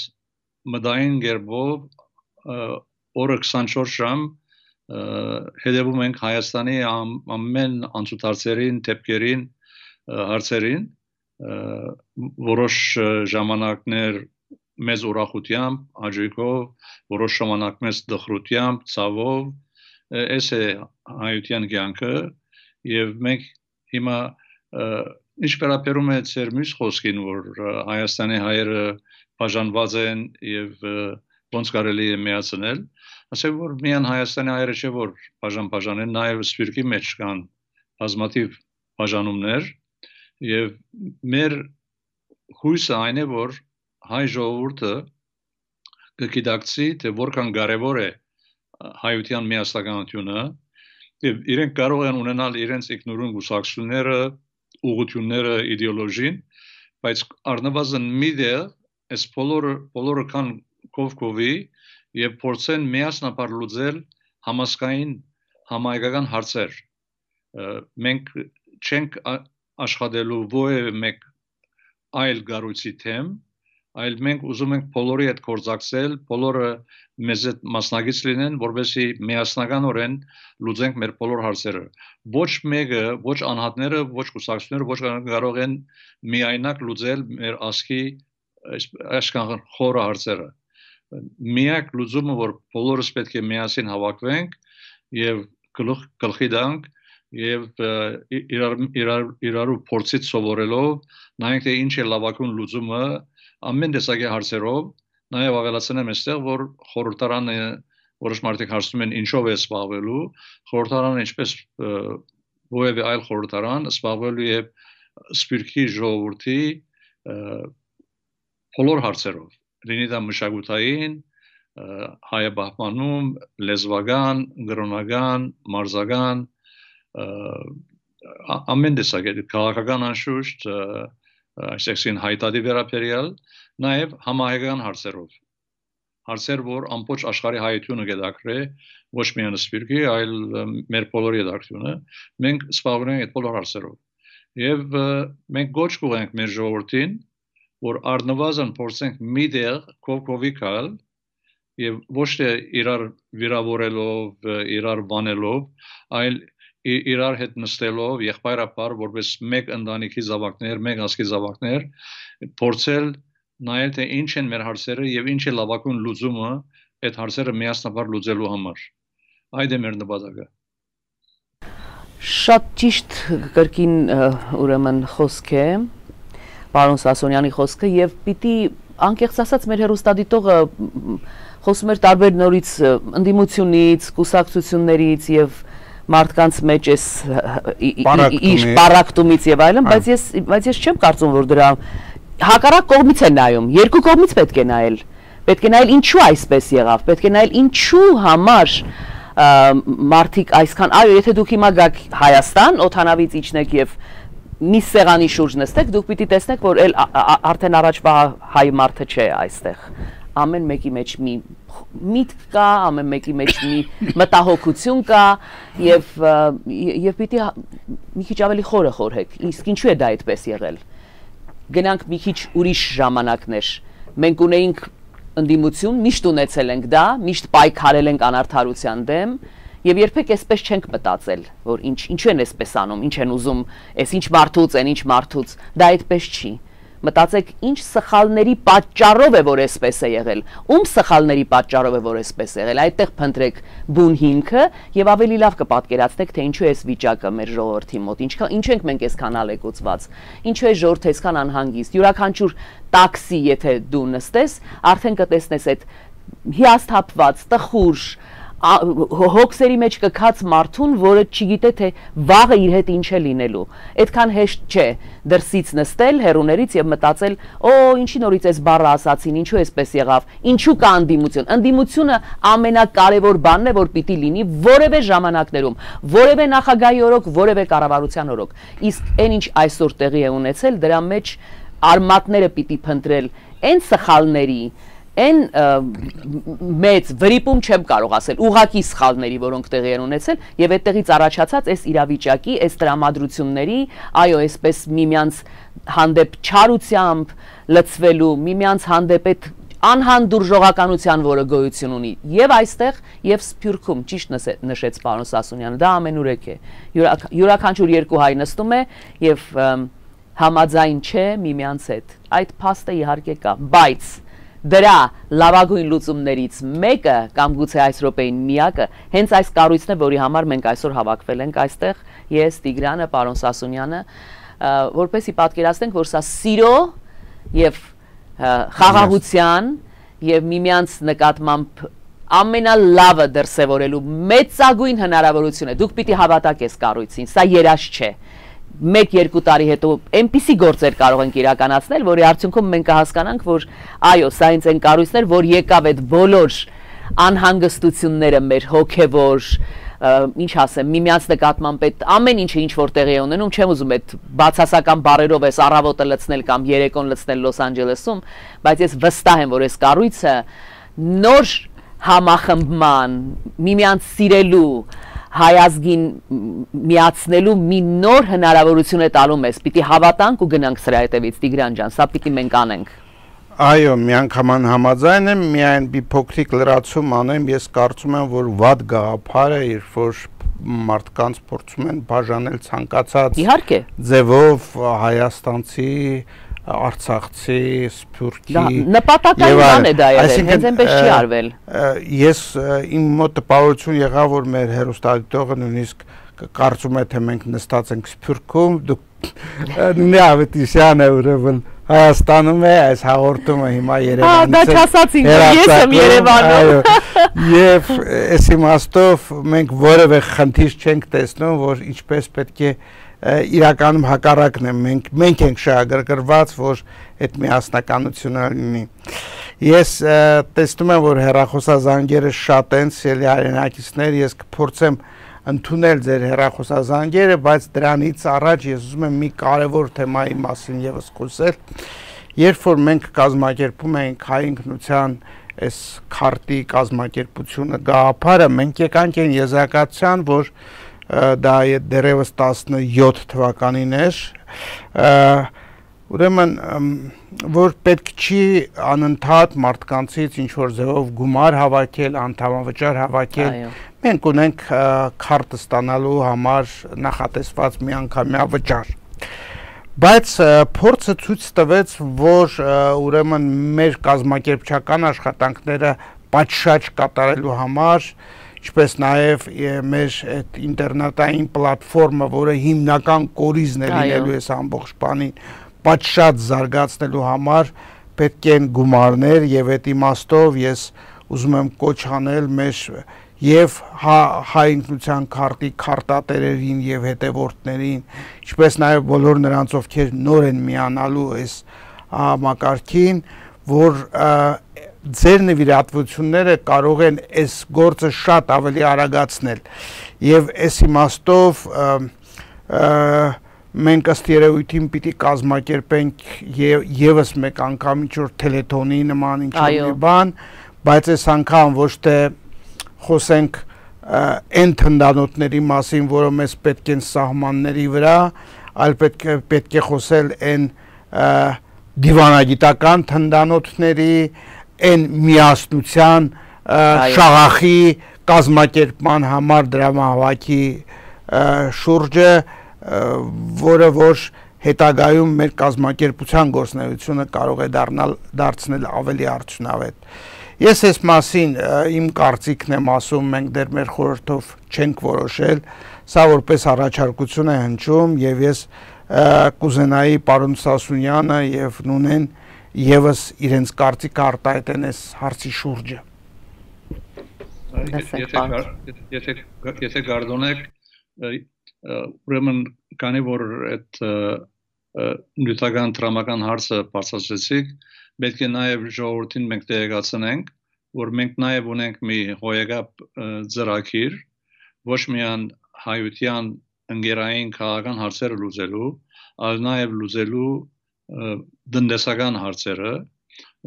մտային կերպով օրը 24 ժամ հետևում ենք Հայաստանի ամեն անցուդարձերին, դեպքերին, հարցերին, որոշ ժամանակներ մեծ ուրախությամբ, հաճույքով, որոշ ժամանակ մեծ դխրությամբ, ցավով, այս է հայության կյանքը եւ մենք հիմա ինչ վերաբերում է ծեր մյուս խոսքին, որ Հայաստանի հայերը բաժանված են եւ ոնց կարելի է միացնել, ասեմ որ միայն Հայաստանի հայերը չէ որ բաժան են, նաեւ սպիրկի մեջ կան բազմաթիվ բաժանումներ եւ մեր հույսը այն է որ հայ ժողովուրդը կգիտակցի թե որքան կարևոր է հայության միասնականությունը եւ իրենք կարող են ունենալ իրենց ինքնուրույն գուսակցությունները, ուղղությունները, իդեոլոգին, բայց առնվազն մի դեր այս բոլորը կան կողքովի եւ փորձեն միասնաբար լուծել համասկային համայնքական հարցեր մենք չենք աշխատելու որևէ մեկ այլ գառույցի թեմ, այլ մենք ուզում ենք բոլորի հետ գործակցել, բոլորը մեզ հետ մասնակից լինեն, որովհետեւ միասնականորեն լուծենք մեր բոլոր հարցերը։ Ոչ մեկը, ոչ անհատները, ոչ կուսակցությունները, ոչ կարող են միայնակ լուծել մեր ազգի այսքան խորը հարցերը։ Միակ լուծումը, որ բոլորս պետք է միասին հավաքվենք եւ գլխի տանք եւ իրարու փորձից սովորելով նայենք թե ինչ է լավագույն լուծումը ամեն տեսակի հարցերով նաեւ ավելացնեմ այստեղ որ խորհրդարանը որոշ մարդիկ հարցնում են ինչով է զբաղվելու խորհրդարանը ինչպես որևէ այլ խորհրդարան զբաղվելու է սպիրկի ժողովրդի բոլոր հարցերով լինի դա մշակութային հայաբահմանում լեզվական գրոնական մարզական ամեն տեսակի քաղաքական անշուշտ այսինքն հայտարարի վերաբերյալ նաև համահայկական հարցեր որ ամբողջ աշխարհի հայությունը գդակրե ոչ միայն սպիրկի այլ մեր բոլորի դարձությունը մենք զբաղվում ենք այդ բոլոր հարցերով եւ մենք գոչ կուղենք մեր ժողովրդին որ առնվազն փորձենք մի դեր կողքովի գալ եւ ոչ թե իրար վիրավորելով իրար բանելով այլ իրար հետ նստելով եղբայրապար որպես մեկ ընտանիքի զավակներ, մեկ ազգի զավակներ փորձել նայել թե ինչ են մեր հարցերը եւ ինչ է լավագույն լուծումը այդ հարցերը միասնաբար լուծելու համար։ Այդ է մեր նպատակը։ Շատ ճիշտ կրկին ուրեմն խոսք է պարոն Սասունյանի խոսքը եւ պիտի անկեղծ ասած մեր հերոստատիտողը խոսում էր տարբեր նորից ընդդիմությունից, կուսակցություններից եւ մարդկանց մեջ էս իշ պարակտումից եւ այլն, բայց ես չեմ կարծում որ դրա հակառակ կողմից է նայում, երկու կողմից պետք է նայել ինչու այսպես եղավ, պետք է նայել ինչու համար մարդիկ այսքան, այո, եթե դուք հիմա գաք Հայաստան, օդանավից իջնեք եւ մի սեղանի շուրջ նստեք, դուք պիտի տեսնեք, որ արդեն առաջվա հայ մարդը չէ այստեղ։ Ամեն մեկի մեջ մի միտք կա, ամեն մեկի մեջ մի մտահոգություն կա եւ պիտի մի քիչ ավելի խորը խորհեք։ Իսկ ինչու է դա այդպես եղել։ Գնանք մի քիչ ուրիշ ժամանակներ։ Մենք ունեինք ընդդիմություն, միշտ ունեցել ենք դա, միշտ պայքարել ենք անարդարության դեմ եւ երբեք այսպես չենք մտածել, որ ինչու են այսպես անում, ինչ են ուզում, այս ինչ մարդուց են, ինչ մարդուց, դա այդպես չի։ Մտածեք ինչ սխալների պատճառով է որ այսպես է եղել, ում սխալների պատճառով է որ այսպես է եղել, այդտեղ փնտրեք բուն հիմքը եւ ավելի լավ կպատկերացնեք թե ինչու է այս վիճակը մեր ժողովրդի մոտ, ինչու ենք մենք այսքան ալեկոծված, ինչու է ժողովուրդը այսքան անհանգիստ, յուրաքանչյուր տաքսի եթե դու նստես, արդեն կտեսնես այդ հիասթափված, տխուր, հոգսերի մեջ կքած մարդուն, որը չգիտե թե վաղը իր հետ ինչ է լինելու։ Այդքան հեշտ չէ դրսից նստել հեռուներից եւ մտածել, ինչի նորից էս բառը ասացին, ինչու էսպես եղավ, ինչու կա անդիմություն։ Անդիմությունը ամենակարևոր բանն է, որ պիտի լինի որևէ ժամանակներում, որևէ նախագահի օրոք, որևէ կառավարության օրոք։ Իսկ այն ինչ այսօր տեղի է ունեցել, դրա մեջ արմատները պիտի փնտրել այն սխալների, այն մեծ վրիպում չեմ կարող ասել, ուղղակի սխալների, որոնք տեղի են ունեցել, եւ այդտեղից առաջացած այս իրավիճակի, այս տրամադրությունների, այո, այսպես միմյանց հանդեպ չարությամբ լծվելու, միմյանց հանդեպ այդ անհանդուրժողականության, որը գոյություն ունի, եւ այստեղ, եւ Սփյուռքում, ճիշտ նշեց պարոն Սասունյանը, դա ամենուրեք է։ Յուրաքանչյուր երկու հայ նստում է եւ համաձայն չէ միմյանց հետ։ Այդ փաստը իհարկե կա, բայց դրա լավագույն լուծումներից մեկը կամ գուցե այս րոպեին միակը հենց այս կառույցն է, որի համար մենք այսօր հավաքվել ենք այստեղ, ես, Տիգրանը, պարոն Սասունյանը, որպեսզի պատկերացնենք, որ սա սիրո եւ խաղաղության եւ միմյանց նկատմամբ ամենալավը դրսևորելու մեծագույն հնարավորություն է։ Դուք պիտի հավատաք այս կառույցին, սա երազ չէ։ 1-2 տարի հետո այնպիսի գործեր կարող ենք իրականացնել, որի արդյունքում մենք կհասկանանք, որ այո, սա ինձ են կառույցներ, որ եկավ այդ բոլոր անհանգստությունները մեր հոգևոր, ինչ ասեմ, միմյանց նկատմամբ այդ ամեն ինչը ինչ որ տեղի է ունենում, չեմ ուզում այդ բացասական բառերով այս առավոտը լցնել կամ երեկոն լցնել Լոս Անջելեսում, բայց ես վստահ եմ, որ այս կառույցը նոր համախմբման, միմյանց սիրելու, հայազգին միացնելու մի նոր հնարավորություն է տալու մեզ, պիտի հավատանք ու գնանք սրա հետևից, Տիգրան ջան, սա պիտի մենք անենք։ Այո, միանգամայն համաձայն եմ, միայն մի փոքրիկ լրացում անեմ, ես կարծում եմ, որ վատ գաղափար է, երբ որ մարդկանց փորձում են բաժանել ցանկացած ձևով հայաստանցի, արցախցի, սփյուռքի նպատակային բան է դա եղել, հենց այնպես չի արվել։ Ես իմ մոտ տպավորություն եղավ, որ մեր հեռուստադիտողը նույնիսկ կարծում է, թե մենք նստած ենք Սփյուռքում, դուք նույնի Ավետիսյան է ուրեմն Հայաստանում է, այս հաղորդումը հիմա Երևանից է։ Դա չասացին, ես եմ Երևանում։ Եվ այս իմաստով մենք որևէ խնդիր չենք տեսնում, որ ինչպես պետք է իրականում հակառակն է, մենք ենք շահագրգռված, որ այդ միասնականությունը լինի։ Ես տեսնում եմ, որ հեռախոսազանգերը շատ են, սիրելի հայրենակիցներ, ես կփորձեմ ընդունել ձեր հեռախոսազանգերը, բայց դրանից առաջ ես ուզում եմ մի կարևոր թեմայի մասին եւս խոսել։ Երբ որ մենք կազմակերպում ենք հայ ինքնության այս քարտի կազմակերպությունը գաղափարը, մենք եկանք այն եզրակացության, որ դա դեռևս 17 թվականին էր, ուրեմն որ պետք չի անընդհատ մարդկանցից ինչ որ ձևով գումար հավաքել, անդամավճար հավաքել, մենք ունենք քարտը ստանալու համար նախատեսված միանգամյա վճար։ Բայց փորձը ցույց տվեց, որ ուրեմն մեր կազմակերպչական աշխատանքները պատշաճ կատարելու համար, ինչպես նաև մեր այդ ինտերնետային պլատֆորմը, որը հիմնական կորիզն է լինելու այս ամբողջ բանին, պատշաճ զարգացնելու համար պետք են գումարներ եւ այդ իմաստով ես ուզում եմ կոչ անել մեր եւ հայ ինքնության քարտի քարտատերերին եւ հետևորդներին, ինչպես նաեւ բոլոր նրանց, ովքեր նոր են միանալու այս համակարգին, որ ձեր նվիրատվությունները կարող են այս գործը շատ ավելի արագացնել եւ այս իմաստով մենք ըստ երևույթին պիտի կազմակերպենք եւս մեկ անգամ ինչ-որ թելեթոնի նման ինչ-որ բան, բայց այս անգամ ոչ թե խոսենք այն թնդանոթների մասին, որը մեզ պետք են սահմանների վրա, այլ պետք է խոսել այն դիվանագիտական թնդանոթների, այն միասնության շաղախի կազմակերպման համար դրամահավաքի շուրջը, որը որ հետագայում մեր կազմակերպության գործունեությունը կարող է դարձնել ավելի արդյունավետ։ Ես այս մասին իմ կարծիքն եմ ասում, մենք դեռ մեր խորհրդով չենք որոշել, սա որպես առաջարկություն է հնչում եւ ես կուզենայի պարոն Սասունյանը եւ Նունեն եւս իրենց կարծիքը արտահայտեն այս հարցի շուրջը։ Եթե գարդոնեք ուրեմն կանի որ այդ նյութական տրամական հարցը բարձրացրեցիք, պետք է նաև ժողովրդին մենք տեղեկացնենք, որ մենք նաև ունենք մի հոյակապ ծրագիր, ոչ միայն հայության ընկերային քաղաքական հարցերը լուծելու, այլ նաև լուծելու տնտեսական հարցերը,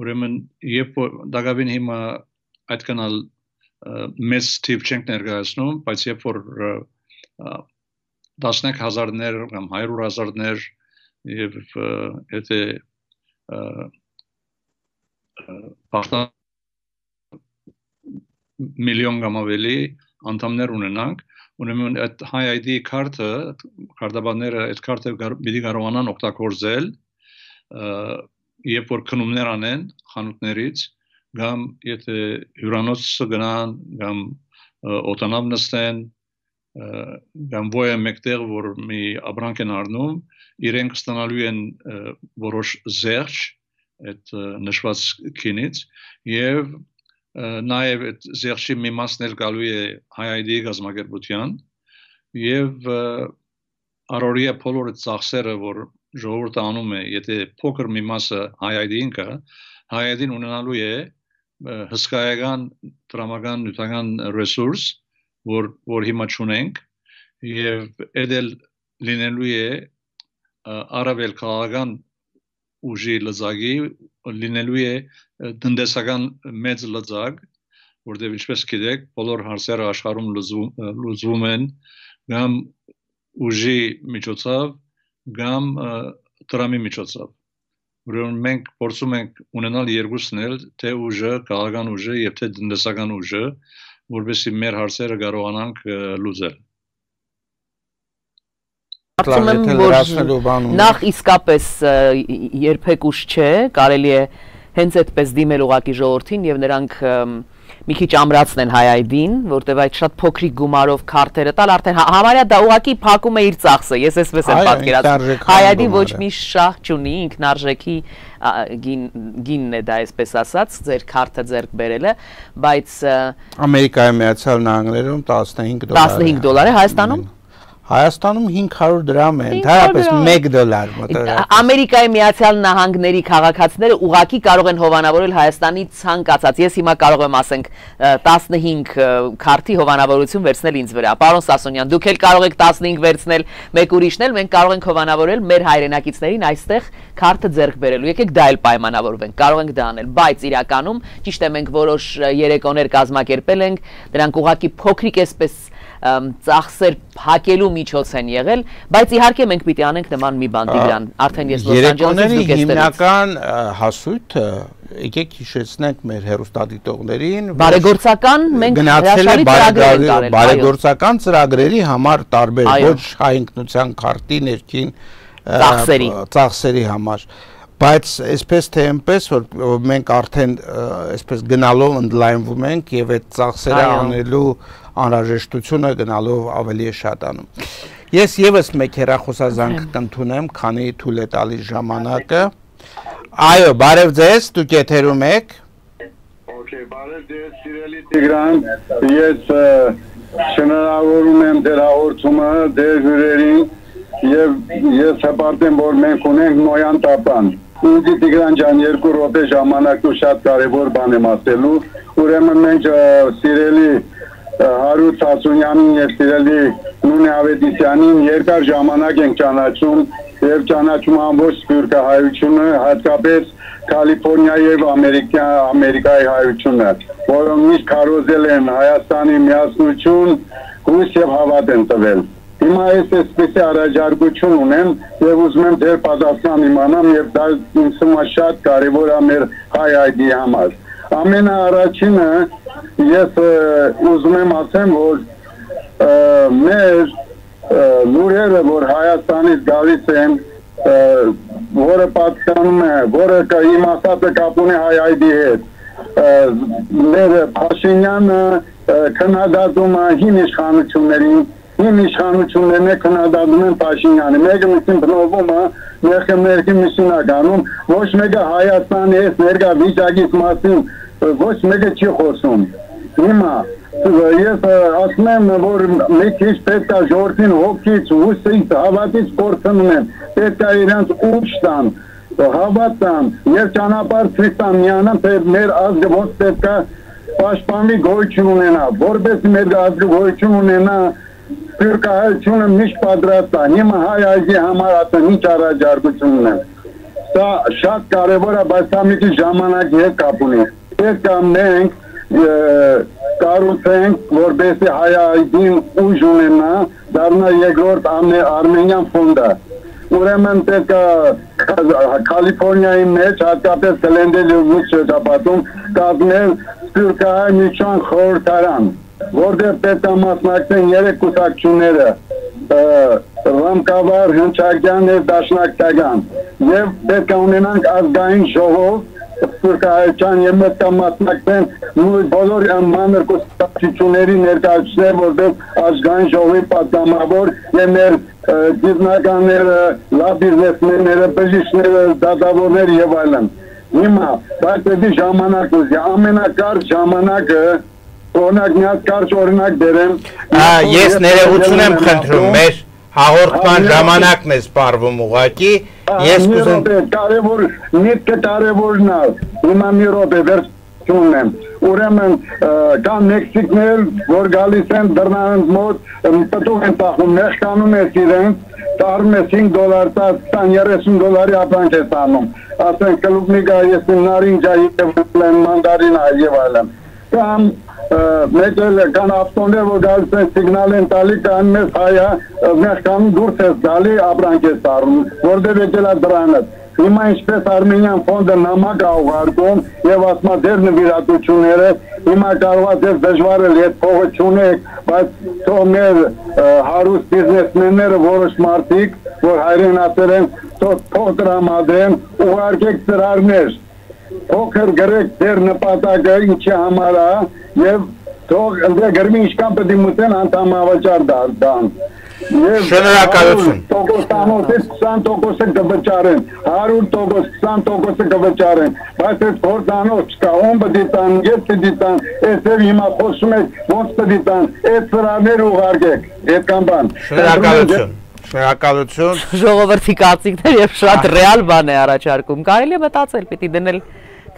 ուրեմն երբ դակավին հիմա այդքան մեծ թիվ չենք ներկայացնում, բայց երբ որ 10,000-ներ կամ 100,000-ներ եւ եթե բախտան միլիոն կամ ավելի անդամներ ունենանք, ուրեմն այդ High ID քարտը, քարտաբանները այդ քարտը պիտի կարողանան օգտագործել, երբ որ քնումներ անեն խանութներից, կամ եթե հյուրանոց գնան, կամ օտանավ նստեն, կամ ոյը մեկտեղ, որ մի ապրանք են առնում, իրենք ստանալու են որոշ զերծ այդ նշված քինից եւ նաեւ այդ զերծի մի մասն էլ գալու է հայ-ID գազམ་ակերպության եւ առօրյա բոլոր ծախսերը որ ժողովուրդը անում է եթե փոքր մի մասը հայ-ID-ին կա հայ-ID-ն ունենալու է հսկայական դրամական նյութական ռեսուրս որ հիմա չունենք եւ այդել լինելու է Արաբել քաղաքական ուժի լծակի լինելու է տնտեսական մեծ լծակ, որտեղ ինչպես գիտեք, բոլոր հարցերը աշխարհում լուծվում են կամ ուժի միջոցով, կամ դրամի միջոցով։ Ուրեմն մենք փորձում ենք ունենալ երկուսն էլ, թե ուժը, քաղաքական ուժը եւ թե տնտեսական ուժը, որովհետեւ մեր հարցերը կարողանանք լուծել։ Կարծում եմ, որ նախ իսկապես երբեք ուշ չէ, կարելի է հենց այդպես դիմել ուղղակի ժողովրդին եւ նրանք մի քիչ ամրացնեն հայ-ID-ին, որտեղ այդ շատ փոքրիկ գումարով քարտերը տալ արդեն համարյա դա ուղղակի փակում է իր ծախսը, ես էսպես եմ պատկերացնում։ Հայ-ID ոչ մի շահ չունի, ինքնարժեքի գինն է դա այսպես ասած, ձեր քարտը ձեռք բերելը, բայց Ամերիկայի Միացյալ Նահանգներում $15 է, Հայաստանում Հայաստանում 500 դրամ է, ընդհանրապես $1 մոտավորապես։ Ամերիկայի Միացյալ Նահանգների քաղաքացիները ուղղակի կարող են հովանավորել Հայաստանի ցանկացած։ Ես հիմա կարող եմ ասենք 15 քարտի հովանավորություն վերցնել ինձ վրա։ Պարոն Սասունյան, դուք էլ կարող եք 15 վերցնել, մեկ ուրիշն էլ, մենք կարող ենք հովանավորել մեր հայրենակիցներին այստեղ քարտը ձեռք բերելու։ Եկեք դա էլ պայմանավորվենք, կարող ենք դա անել, բայց իրականում ճիշտ է մենք որոշ երեկոներ կազմակերպել ենք, դրանք ուղղակի փոքրիկ էսպես ծախսեր փակելու միջոց են եղել, բայց իհարկե մենք պիտի անենք նման մի բան Տիգրան, արդեն ես Լոս Անջելեսից դուք եք հիմնական հասույթը եկեք հիշեցնենք մեր հեռուստադիտողներին բարեգործական մենք հրաշալի ծրագրեր ենք արել բարեգործական ծրագրերի համար տարբեր ոչ հայ ինքնության քարտի ներքին ծախսերի համար բայց այսպես թե այնպես որ մենք արդեն այսպես գնալով ընդլայնվում ենք եւ այդ ծախսերը անելու անհրաժեշտությունը գնալով ավելի է շատանում։ Ես եւս մեկ հեռախոսազանգ կընդունեմ, քանի թույլ է տալիս ժամանակը։ Այո, բարև ձեզ, դուք եթերում եք։ Okay, բարև ձեզ, սիրելի Տիգրան, ես շնորհավորում եմ ձեր հաղորդումը, ձեր հյուրերին եւ ես հպարտեմ, որ մենք ունենք նոյան տապան։ Ուզի Տիգրան ջան, 2 րոպե ժամանակ ու շատ կարևոր բան եմ ասելու։ Ուրեմն մենք սիրելի Հարութ Սասունյանին եւ սիրելի Նունե Ավետիսյանին երկար ժամանակ ենք ճանաչում եւ ճանաչում ամբողջ սփյուռքահայությունը, հատկապես Կալիֆոռնիայի եւ Ամերիկայի հայությունը, որոնք միշտ քարոզել են Հայաստանի միասնություն, հույս եւ հավատ են տվել։ Հիմա ես այսպես առաջարկություն ունեմ եւ ուզում եմ ձեր պատասխան իմանամ եւ դա ինձ համար շատ կարեւոր է մեր հայ-ID-ի համար։ Ամենաառաջինը ես ուզում եմ ասեմ, որ մեր լուրերը, որ Հայաստանից գալիս են, որը պատկանում է, որը իմաստացը կապ ունի հայ-ID-ի հետ, մեր Փաշինյանը քննադատում է հին իշխանություններին, հին իշխանություններն է քննադատում են Փաշինյանը, մեկը մյուսին բնովում է, մեկը մյուսին է գանում, ոչ մեկը Հայաստանի այս ներկա վիճակից մասին ոչ մեկը չի խոսում։ Հիմա ես ասում եմ, որ մի քիչ պետք է ժողովրդին հոգից, հուսից, հավատից կորցնում են, պետք է իրենց ուժ տան, հավատ տան, եւ ճանապարհ ցույց տան միանան, թե մեր ազգը ոնց պետք է պաշտպանվի, գոյություն ունենա, որպես մեր ազգը գոյություն ունենա, սփյուռքահայությունը միշտ պատրաստ է, հիմա հայ ազգի համար ասեմ ինչ առաջարկություն ունեմ, դա շատ կարևոր է, բայց դա մի քիչ ժամանակի հետ կապ ունի, պետք է մենք կառուցենք, որպեսզի հայ ազգին ուժ ունենա, դառնա երկրորդ Արմենիան ֆոնդը, ուրեմն պետք է Կալիֆոռնիայի մեջ, հատկապես Գլենդեյի շրջապատում կազմել սփյուռքահայ միջան խորհրդարան, որտեղ պետք է մասնակցեն 3 կուսակցությունները, Ռամկավար, Հնչակյան եւ Դաշնակցական, եւ պետք է ունենանք ազգային ժողով, սփյուռքահայության եւ պետք է մասնակցեն բոլոր մանր կուսակցությունների ներկայացուցիչներ, որտեղ ազգային ժողովի պատգամավոր եւ մեր գիտնականները, լավ բիզնեսմենները, բժիշկները, դատավորները եւ այլն։ Հիմա բայց դի ժամանակ ուզի, ամենակարճ ժամանակը օրինակ միած կարճ օրինակ դերեմ։ Ես ներողություն եմ խնդրում, մեր հաղորդման ժամանակն է սպառվում ուղղակի։ Ես կուզեմ կարևոր միտքը կարևորն է։ Հիմա մի րոպե վերջում եմ։ Ուրեմն կան մեքսիկներ, որ գալիս են դռնանց մոտ, պտուղ են տախում, մեխկանում ես իրենց, տարում ես $5, 10-30 ապրանք ես անում։ Ասեն կլուբնիկա, ես նարինջա եւ մանդարինա եւ այլն։ Կամ մեկ էլ կան ավտոներ, որ գալիս են սիգնալ են տալի, կան մեզ հայա, մեխկանում դուրս ես դալի, ապրանք ես տառում, որտեղ եկել է դրանըց։ Հիմա ինչպես Արմենիան ֆոնդը նամակ է ուղարկում եւ ասում է ձեր նվիրատությունները, հիմա կարող է ձեզ դժվար է այդ փողը չունեք, բայց թող մեր հարուստ բիզնեսմենները որոշ մարդիկ, որ հայրենասեր են, թող տրամադրեն, ուղարկեք ծրարներ, փոքր գրեք ձեր նպատակը ինչի համար է եւ թող գրմի ինչքան պետք է մտեն անդամավճար դառնան։ Շնորհակալություն։ Տոկոսանոցից 20% կվճարեն, 100% 20% կվճարեն, բայց այդ փորձանոց չկա, ում պետք է տան, ես պետք է տան, այսօր հիմա խոսում եք, ոնց պետք է տան, այդ ծրարները ուղարկեք, այդքան բան։ Շնորհակալություն։ Շնորհակալություն։ Ժողովրդի կարծիքներ եւ շատ ռեալ բան է առաջարկում։ Կարելի է մտածել, պիտի դնել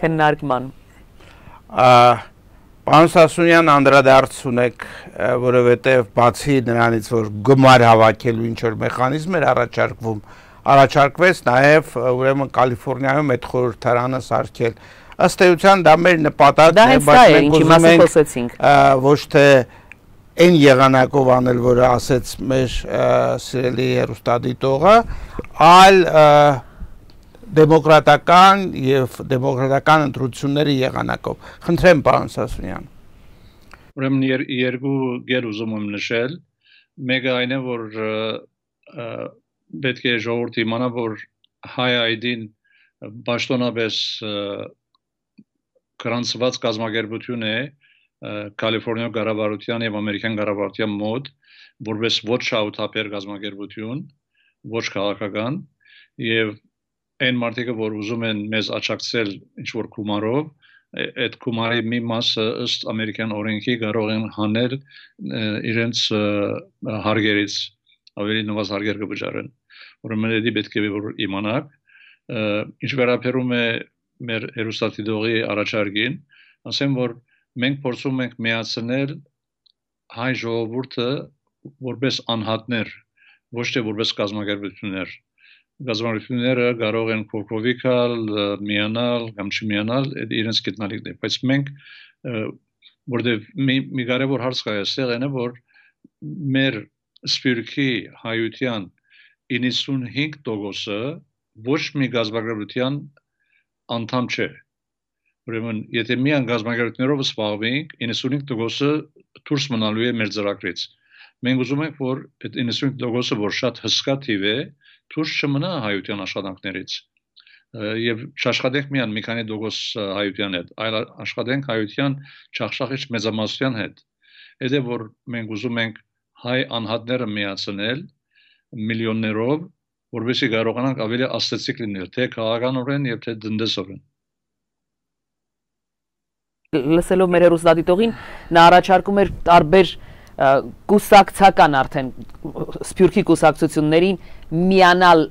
քննարկման։ Պարոն Սասունյան, անդրադարձ ունեք, որովհետև բացի նրանից, որ գումար հավաքելու ինչ-որ մեխանիզմ էր առաջարկվեց նաև ուրեմն Կալիֆոռնիայում այդ խորհրդարանը սարքել։ Ըստ էության դա մեր նպատակն է, բայց մենք ուզում ենք ոչ թե այն եղանակով անել, որը ասեց մեր սիրելի հեռուստադիտողը, այլ դեմոկրատական եւ դեմոկրատական ընտրությունների եղանակով։ Խնդրեմ, պարոն Սասունյան։ Ուրեմն երկու գեր ուզում եմ նշել, մեկը այն է, որ պետք է ժողովուրդը իմանա, որ հայ ID-ն պաշտոնապես գրանցված կազմակերպություն է Կալիֆոռնիա կառավարության եւ ամերիկյան կառավարության մոտ, որպես ոչ շահութաբեր կազմակերպություն, ոչ քաղաքական եւ այն մարդիկը, որ ուզում են մեզ աջակցել ինչ-որ գումարով, այդ գումարի մի մասը ըստ ամերիկյան օրենքի կարող են հանել իրենց հարգերից, ավելի նվազ հարգեր կվճարեն։ Ուրեմն դա պետք է որ իմանաք, ինչ վերաբերում է մեր հեռուստադիտողի առաջարկին, ասեմ, որ մենք փորձում ենք միացնել հայ ժողովուրդը որպես անհատներ, ոչ թե որպես կազմակերպություններ։ Գազམ་ությունները կարող են փոփոխել, միանալ կամ չմիանալ, իրենց գիտնալիքն է, բայց մենք որտեղ մի կարևոր հարց կա այստեղ այն է, որ մեր սփյուռքի հայության 95%-ը ոչ մի գազམ་ակերպության անդամ չէ։ Ուրեմն, եթե միան գազམ་ակերպություններով զբաղվենք, 95%-ը դուրս մնալու է մեր ծրագրից։ Մենք ուզում ենք, որ այդ 95%-ը, որ շատ հսկա թիվ է, դուրս չմնա հայության աշխատանքներից եւ չաշխատենք միան մի քանի տոկոս հայության հետ, այլ աշխատենք հայության չախշախիչ մեծամասնության հետ։ Դա որ մենք ուզում ենք հայ անհատները միացնել միլիոններով, որովհետեւ կարողանանք ավելի աստեցիկ լինել, թե քաղաքականորեն եւ թե տնտեսորեն։ լսելով մեր հեռուստադիտողին նա առաջարկում էր տարբեր կուսակցական արդեն սփյուռքի կուսակցություններին միանալ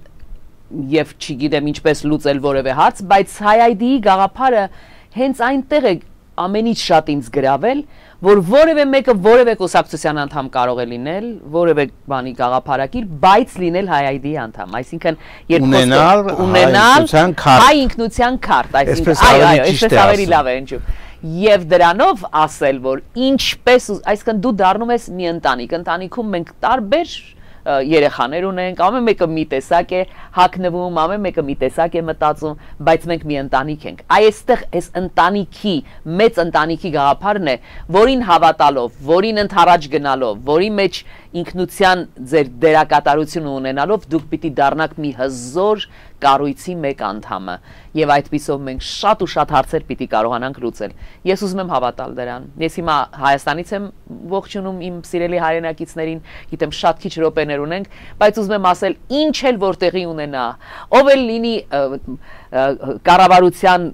եւ չգիտեմ ինչպես լուծել որևէ հարց, բայց հայ-ID-ի գաղափարը հենց այնտեղ է ամենից շատ ինձ գրավել, որ որևէ մեկը որևէ կուսակցության անդամ կարող է լինել, որևէ բանի գաղափարակիր, բայց լինել հայ-ID-ի անդամ, այսինքն ունենալ հայ ինքնության քարտ, այսինքն այո, այսպես ավելի լավ է ընջում։ Եվ դրանով ասել, որ ինչպես, այսինքն դու դառնում ես մի ընտանիք, ընտանիքում մենք տարբեր երեխաներ ունենք, ամեն մեկը մի տեսակ է հագնվում, ամեն մեկը մի տեսակ է մտածում, բայց մենք մի ընտանիք ենք։ Այստեղ այս ընտանիքի, մեծ ընտանիքի գաղափարն է, որին հավատալով, որին ընդառաջ գնալով, որի մեջ ինքնության ձեր դերակատարությունը ունենալով դուք պիտի դառնաք մի հզոր կառույցի մեկ անդամը եւ այդպիսով մենք շատ ու շատ հարցեր պիտի կարողանանք լուծել։ Ես ուզում եմ հավատալ դրան։ Ես հիմա Հայաստանից եմ ողջունում իմ սիրելի հայրենակիցներին, գիտեմ շատ քիչ րոպեներ ունենք, բայց ուզում եմ ասել ինչ էլ որտեղի ունենա, ով էլ լինի կառավարության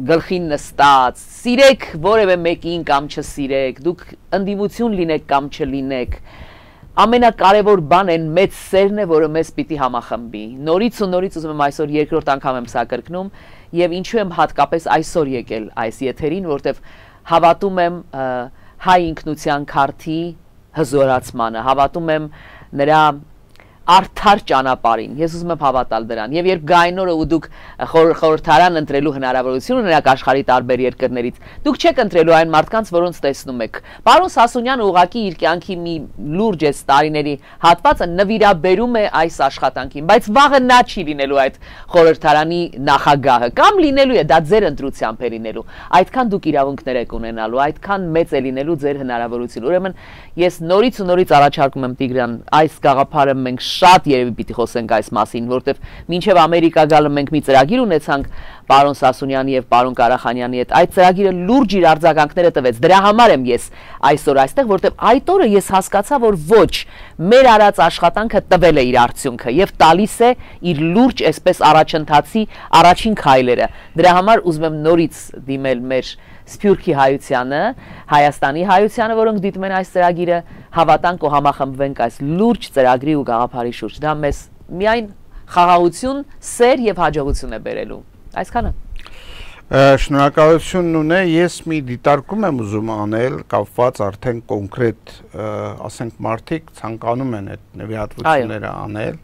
գլխին նստած, սիրեք որևէ մեկին կամ չսիրեք, դուք ընդդիմություն լինեք կամ չլինեք, ամենակարևոր բանն մեծ սերն է, որը մեզ պիտի համախմբի։ Նորից ու նորից ուզում եմ այսօր երկրորդ անգամ եմ սա կրկնում եւ ինչու եմ հատկապես այսօր եկել այս եթերին, որտեվ հավատում եմ հայ ինքնության քարտի հզորացմանը, հավատում եմ նրա արդար ճանապարհին։ Ես ուզում եմ հավատալ դրան։ Եվ երբ գային օրը ու դուք խորհրդարան ընտրելու հնարավորություն ունենաք աշխարհի տարբեր երկրներից, դուք չեք ընտրելու այն մարդկանց, որոնց տեսնում եք։ Պարոն Սասունյանը ուղղակի իր կյանքի մի լուրջ է տարիների հատվածը նվիրաբերում է այս աշխատանքին, բայց վաղը նա չի լինելու այդ խորհրդարանի նախագահը, կամ լինելու է, դա ձեր ընտրությամբ է լինելու։ Այդքան դուք իրավունքներ եք ունենալու, այդքան մեծ է լինելու ձեր հնարավորությունը։ Ուրեմն ես նորից ու նորից առաջարկում եմ Տիգրան, այս գաղափարը մենք շատ երևի պիտի խոսենք այս մասին, որտեվ մինչև Ամերիկա գալը մենք մի ծրագիր ունեցանք պարոն Սասունյանի եւ պարոն Ղարախանյանի հետ, այդ ծրագիրը լուրջ իր արձագանքները տվեց, դրա համար եմ ես այսօր այստեղ, որտեվ այդ օրը ես հասկացա, որ ոչ, մեր արած աշխատանքը տվել է իր արդյունքը եւ տալիս է իր լուրջ այսպես առաջընթացի առաջին քայլերը, դրա համար ուզում եմ նորից դիմել մեր Սփյուռքի հայությանը, Հայաստանի հայությանը, որոնք դիտում են այս ծրագիրը, հավատանք ու համախմբվենք այս լուրջ ծրագրի ու գաղափարի շուրջ։ Դա մեզ միայն խաղաղություն, սեր եւ հաջողություն է բերելու։ Այսքանը։ Շնորհակալություն ունե, ես մի դիտարկում եմ ուզում անել, կապված արդեն կոնկրետ, ասենք մարդիկ ցանկանում են այդ նվիրատվությունները անել,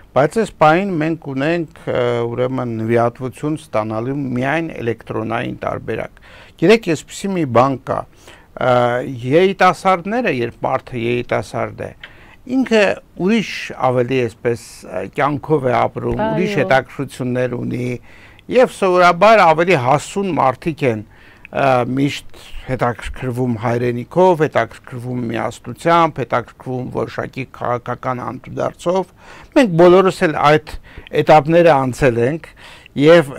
բայց այս պահին մենք ունենք ուրեմն նվիրատվություն ստանալու միայն էլեկտրոնային տարբերակ։ Գիտեք, այսպեսի մի բան կա, երիտասարդները, երբ մարդը երիտասարդ է, ինքը ուրիշ ավելի այսպես կյանքով է ապրում, ուրիշ հետաքրքրություններ ունի եւ սովորաբար ավելի հասուն մարդիկ են միշտ հետաքրքրվում հայրենիքով, հետաքրքրվում միասնությամբ, հետաքրքրվում որոշակի քաղաքական անդրադարձով։ Մենք բոլորս էլ այդ этаպները անցել ենք եւ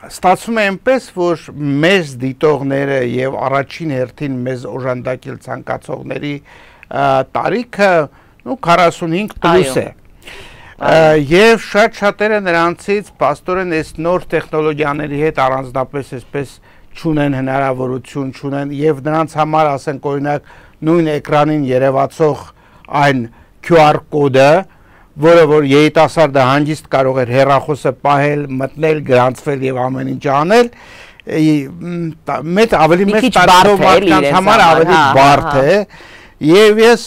ստացվում է այնպես, որ մեզ դիտողները եւ առաջին հերթին մեզ օժանդակել ցանկացողների տարիքը 45 պլյուս է։ Եվ շատ-շատերը նրանցից պաստորեն այս նոր տեխնոլոգիաների հետ առանձնապես այսպես չունեն հնարավորություն, չունեն եւ նրանց համար ասենք օրինակ նույն էկրանին երևացող այն QR կոդը, որը որ երիտասարդը հանգիստ կարող էր հեռախոսը պահել, մտնել, գրանցվել եւ ամեն ինչ անել, մեծ ավելի մեծ տարածով մարդկանց համար ավելի բարդ է։ Եվ ես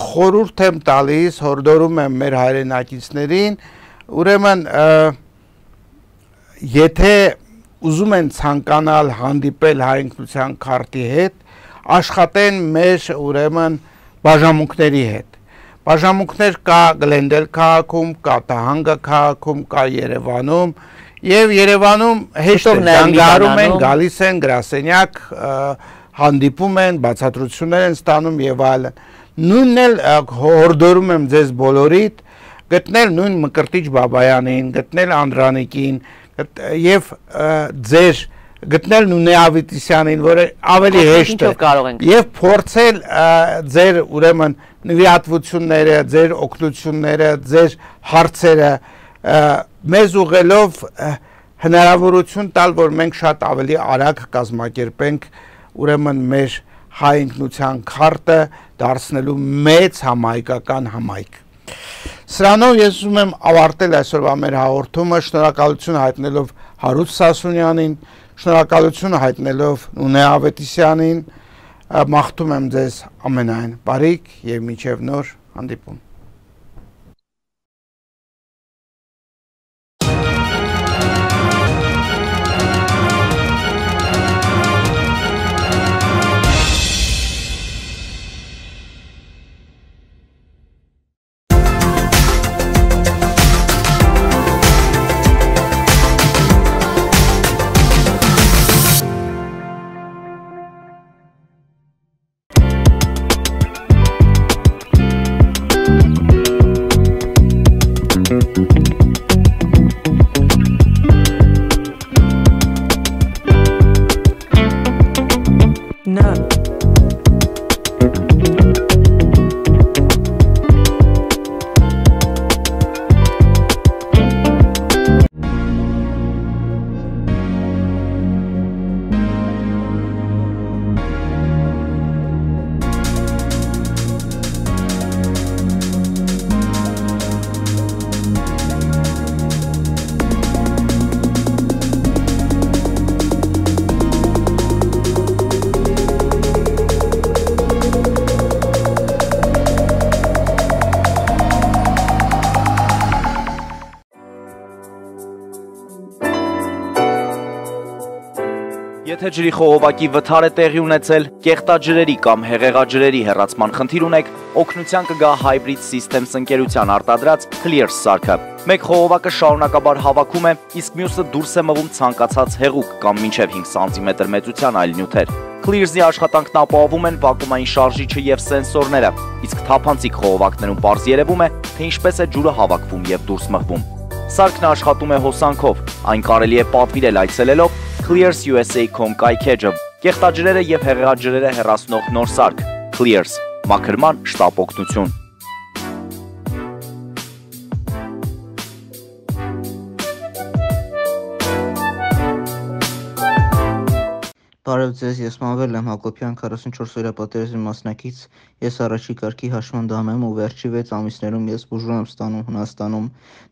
խորհուրդ եմ տալիս, հորդորում եմ մեր հայրենակիցներին, ուրեմն եթե ուզում են ցանկանալ հանդիպել հայ ինքնության քարտի հետ, աշխատեն մեր ուրեմն բաժանմունքների հետ։ Բաժանմունքներ կա Գլենդել քաղաքում, կա Տահանգա քաղաքում, կա Երևանում, եւ Երևանում հեշտ զանգահարում են, գալիս են գրասենյակ, հանդիպում են, բացատրություններ են ստանում եւ այլն։ Նույնն էլ հորդորում եմ ձեզ բոլորիդ գտնել նույն Մկրտիչ Բաբայանին, գտնել Անդրանիկին եւ ձեր գտնել Նունե Ավետիսյանին, որը ավելի հեշտ է, եւ փորձել ձեր ուրեմն նվիրատվությունները, ձեր օգնությունները, ձեր հարցերը մեզ ուղղելով հնարավորություն տալ, որ մենք շատ ավելի արագ կազմակերպենք ուրեմն մեր հայ ինքնության քարտը դարձնելու մեծ համահայկական համայնք։ Սրանով ես ուզում եմ ավարտել այսօրվա մեր հաղորդումը, շնորհակալություն հայտնելով Հարութ Սասունյանին, շնորհակալություն հայտնելով Նունե Ավետիսյանին, մաղթում եմ ձեզ ամենայն բարիք եւ մինչեւ նոր հանդիպում։ Եթե ջրի խողովակի վթար է տեղի ունեցել, կեղտաջրերի կամ հեղեղաջրերի հեռացման խնդիր ունեք, օգնության կգա Hybrid Systems ընկերության արտադրած Clears սարքը։ Մեկ խողովակը շարունակաբար հավաքում է, իսկ մյուսը դուրս է մղում ցանկացած հեղուկ կամ մինչև 5 սանտիմետր մեծության այլ նյութեր։ Clears-ի աշխատանքն ապահովում են վակուումային շարժիչը եւ սենսորները, իսկ թափանցիկ խողովակներում պարզ երևում է, թե ինչպես է ջուրը հավաքվում եւ դուրս մղվում։ Սարքն աշխատում է հոսանքով, այն կարելի է պատվիրել այցելելով clearsusa.com կայքեջը, կեղտաջրերը եւ հեղեղաջրերը հեռացնող նոր սարք, Clears, մաքրման շտապ օգնություն։ Բարև ձեզ, ես Մանվել եմ Հակոբյան, 44-օրյա պատերազմի մասնակից, ես առաջի կարգի հաշմանդամ եմ ու վերջի 6 ամիսներում ես բուժում եմ ստանում Հունաստանում,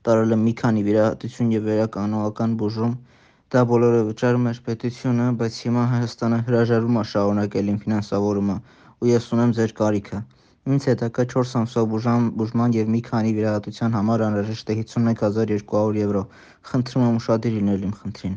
տարել եմ մի քանի վիրահատություն եւ վերականողական բուժում, դա բոլորը վճարում էր պետությունը, բայց հիմա Հայաստանը հրաժարվում է շարունակել իմ ֆինանսավորումը ու ես ունեմ ձեր կարիքը։ Ինձ հետաքրքրում է 4 ամսվա բուժման եւ մի քանի վիրահատության համար անհրաժեշտ է 51200 եվրո։ Խնդրում եմ ուշադիր լինել իմ խնդրին։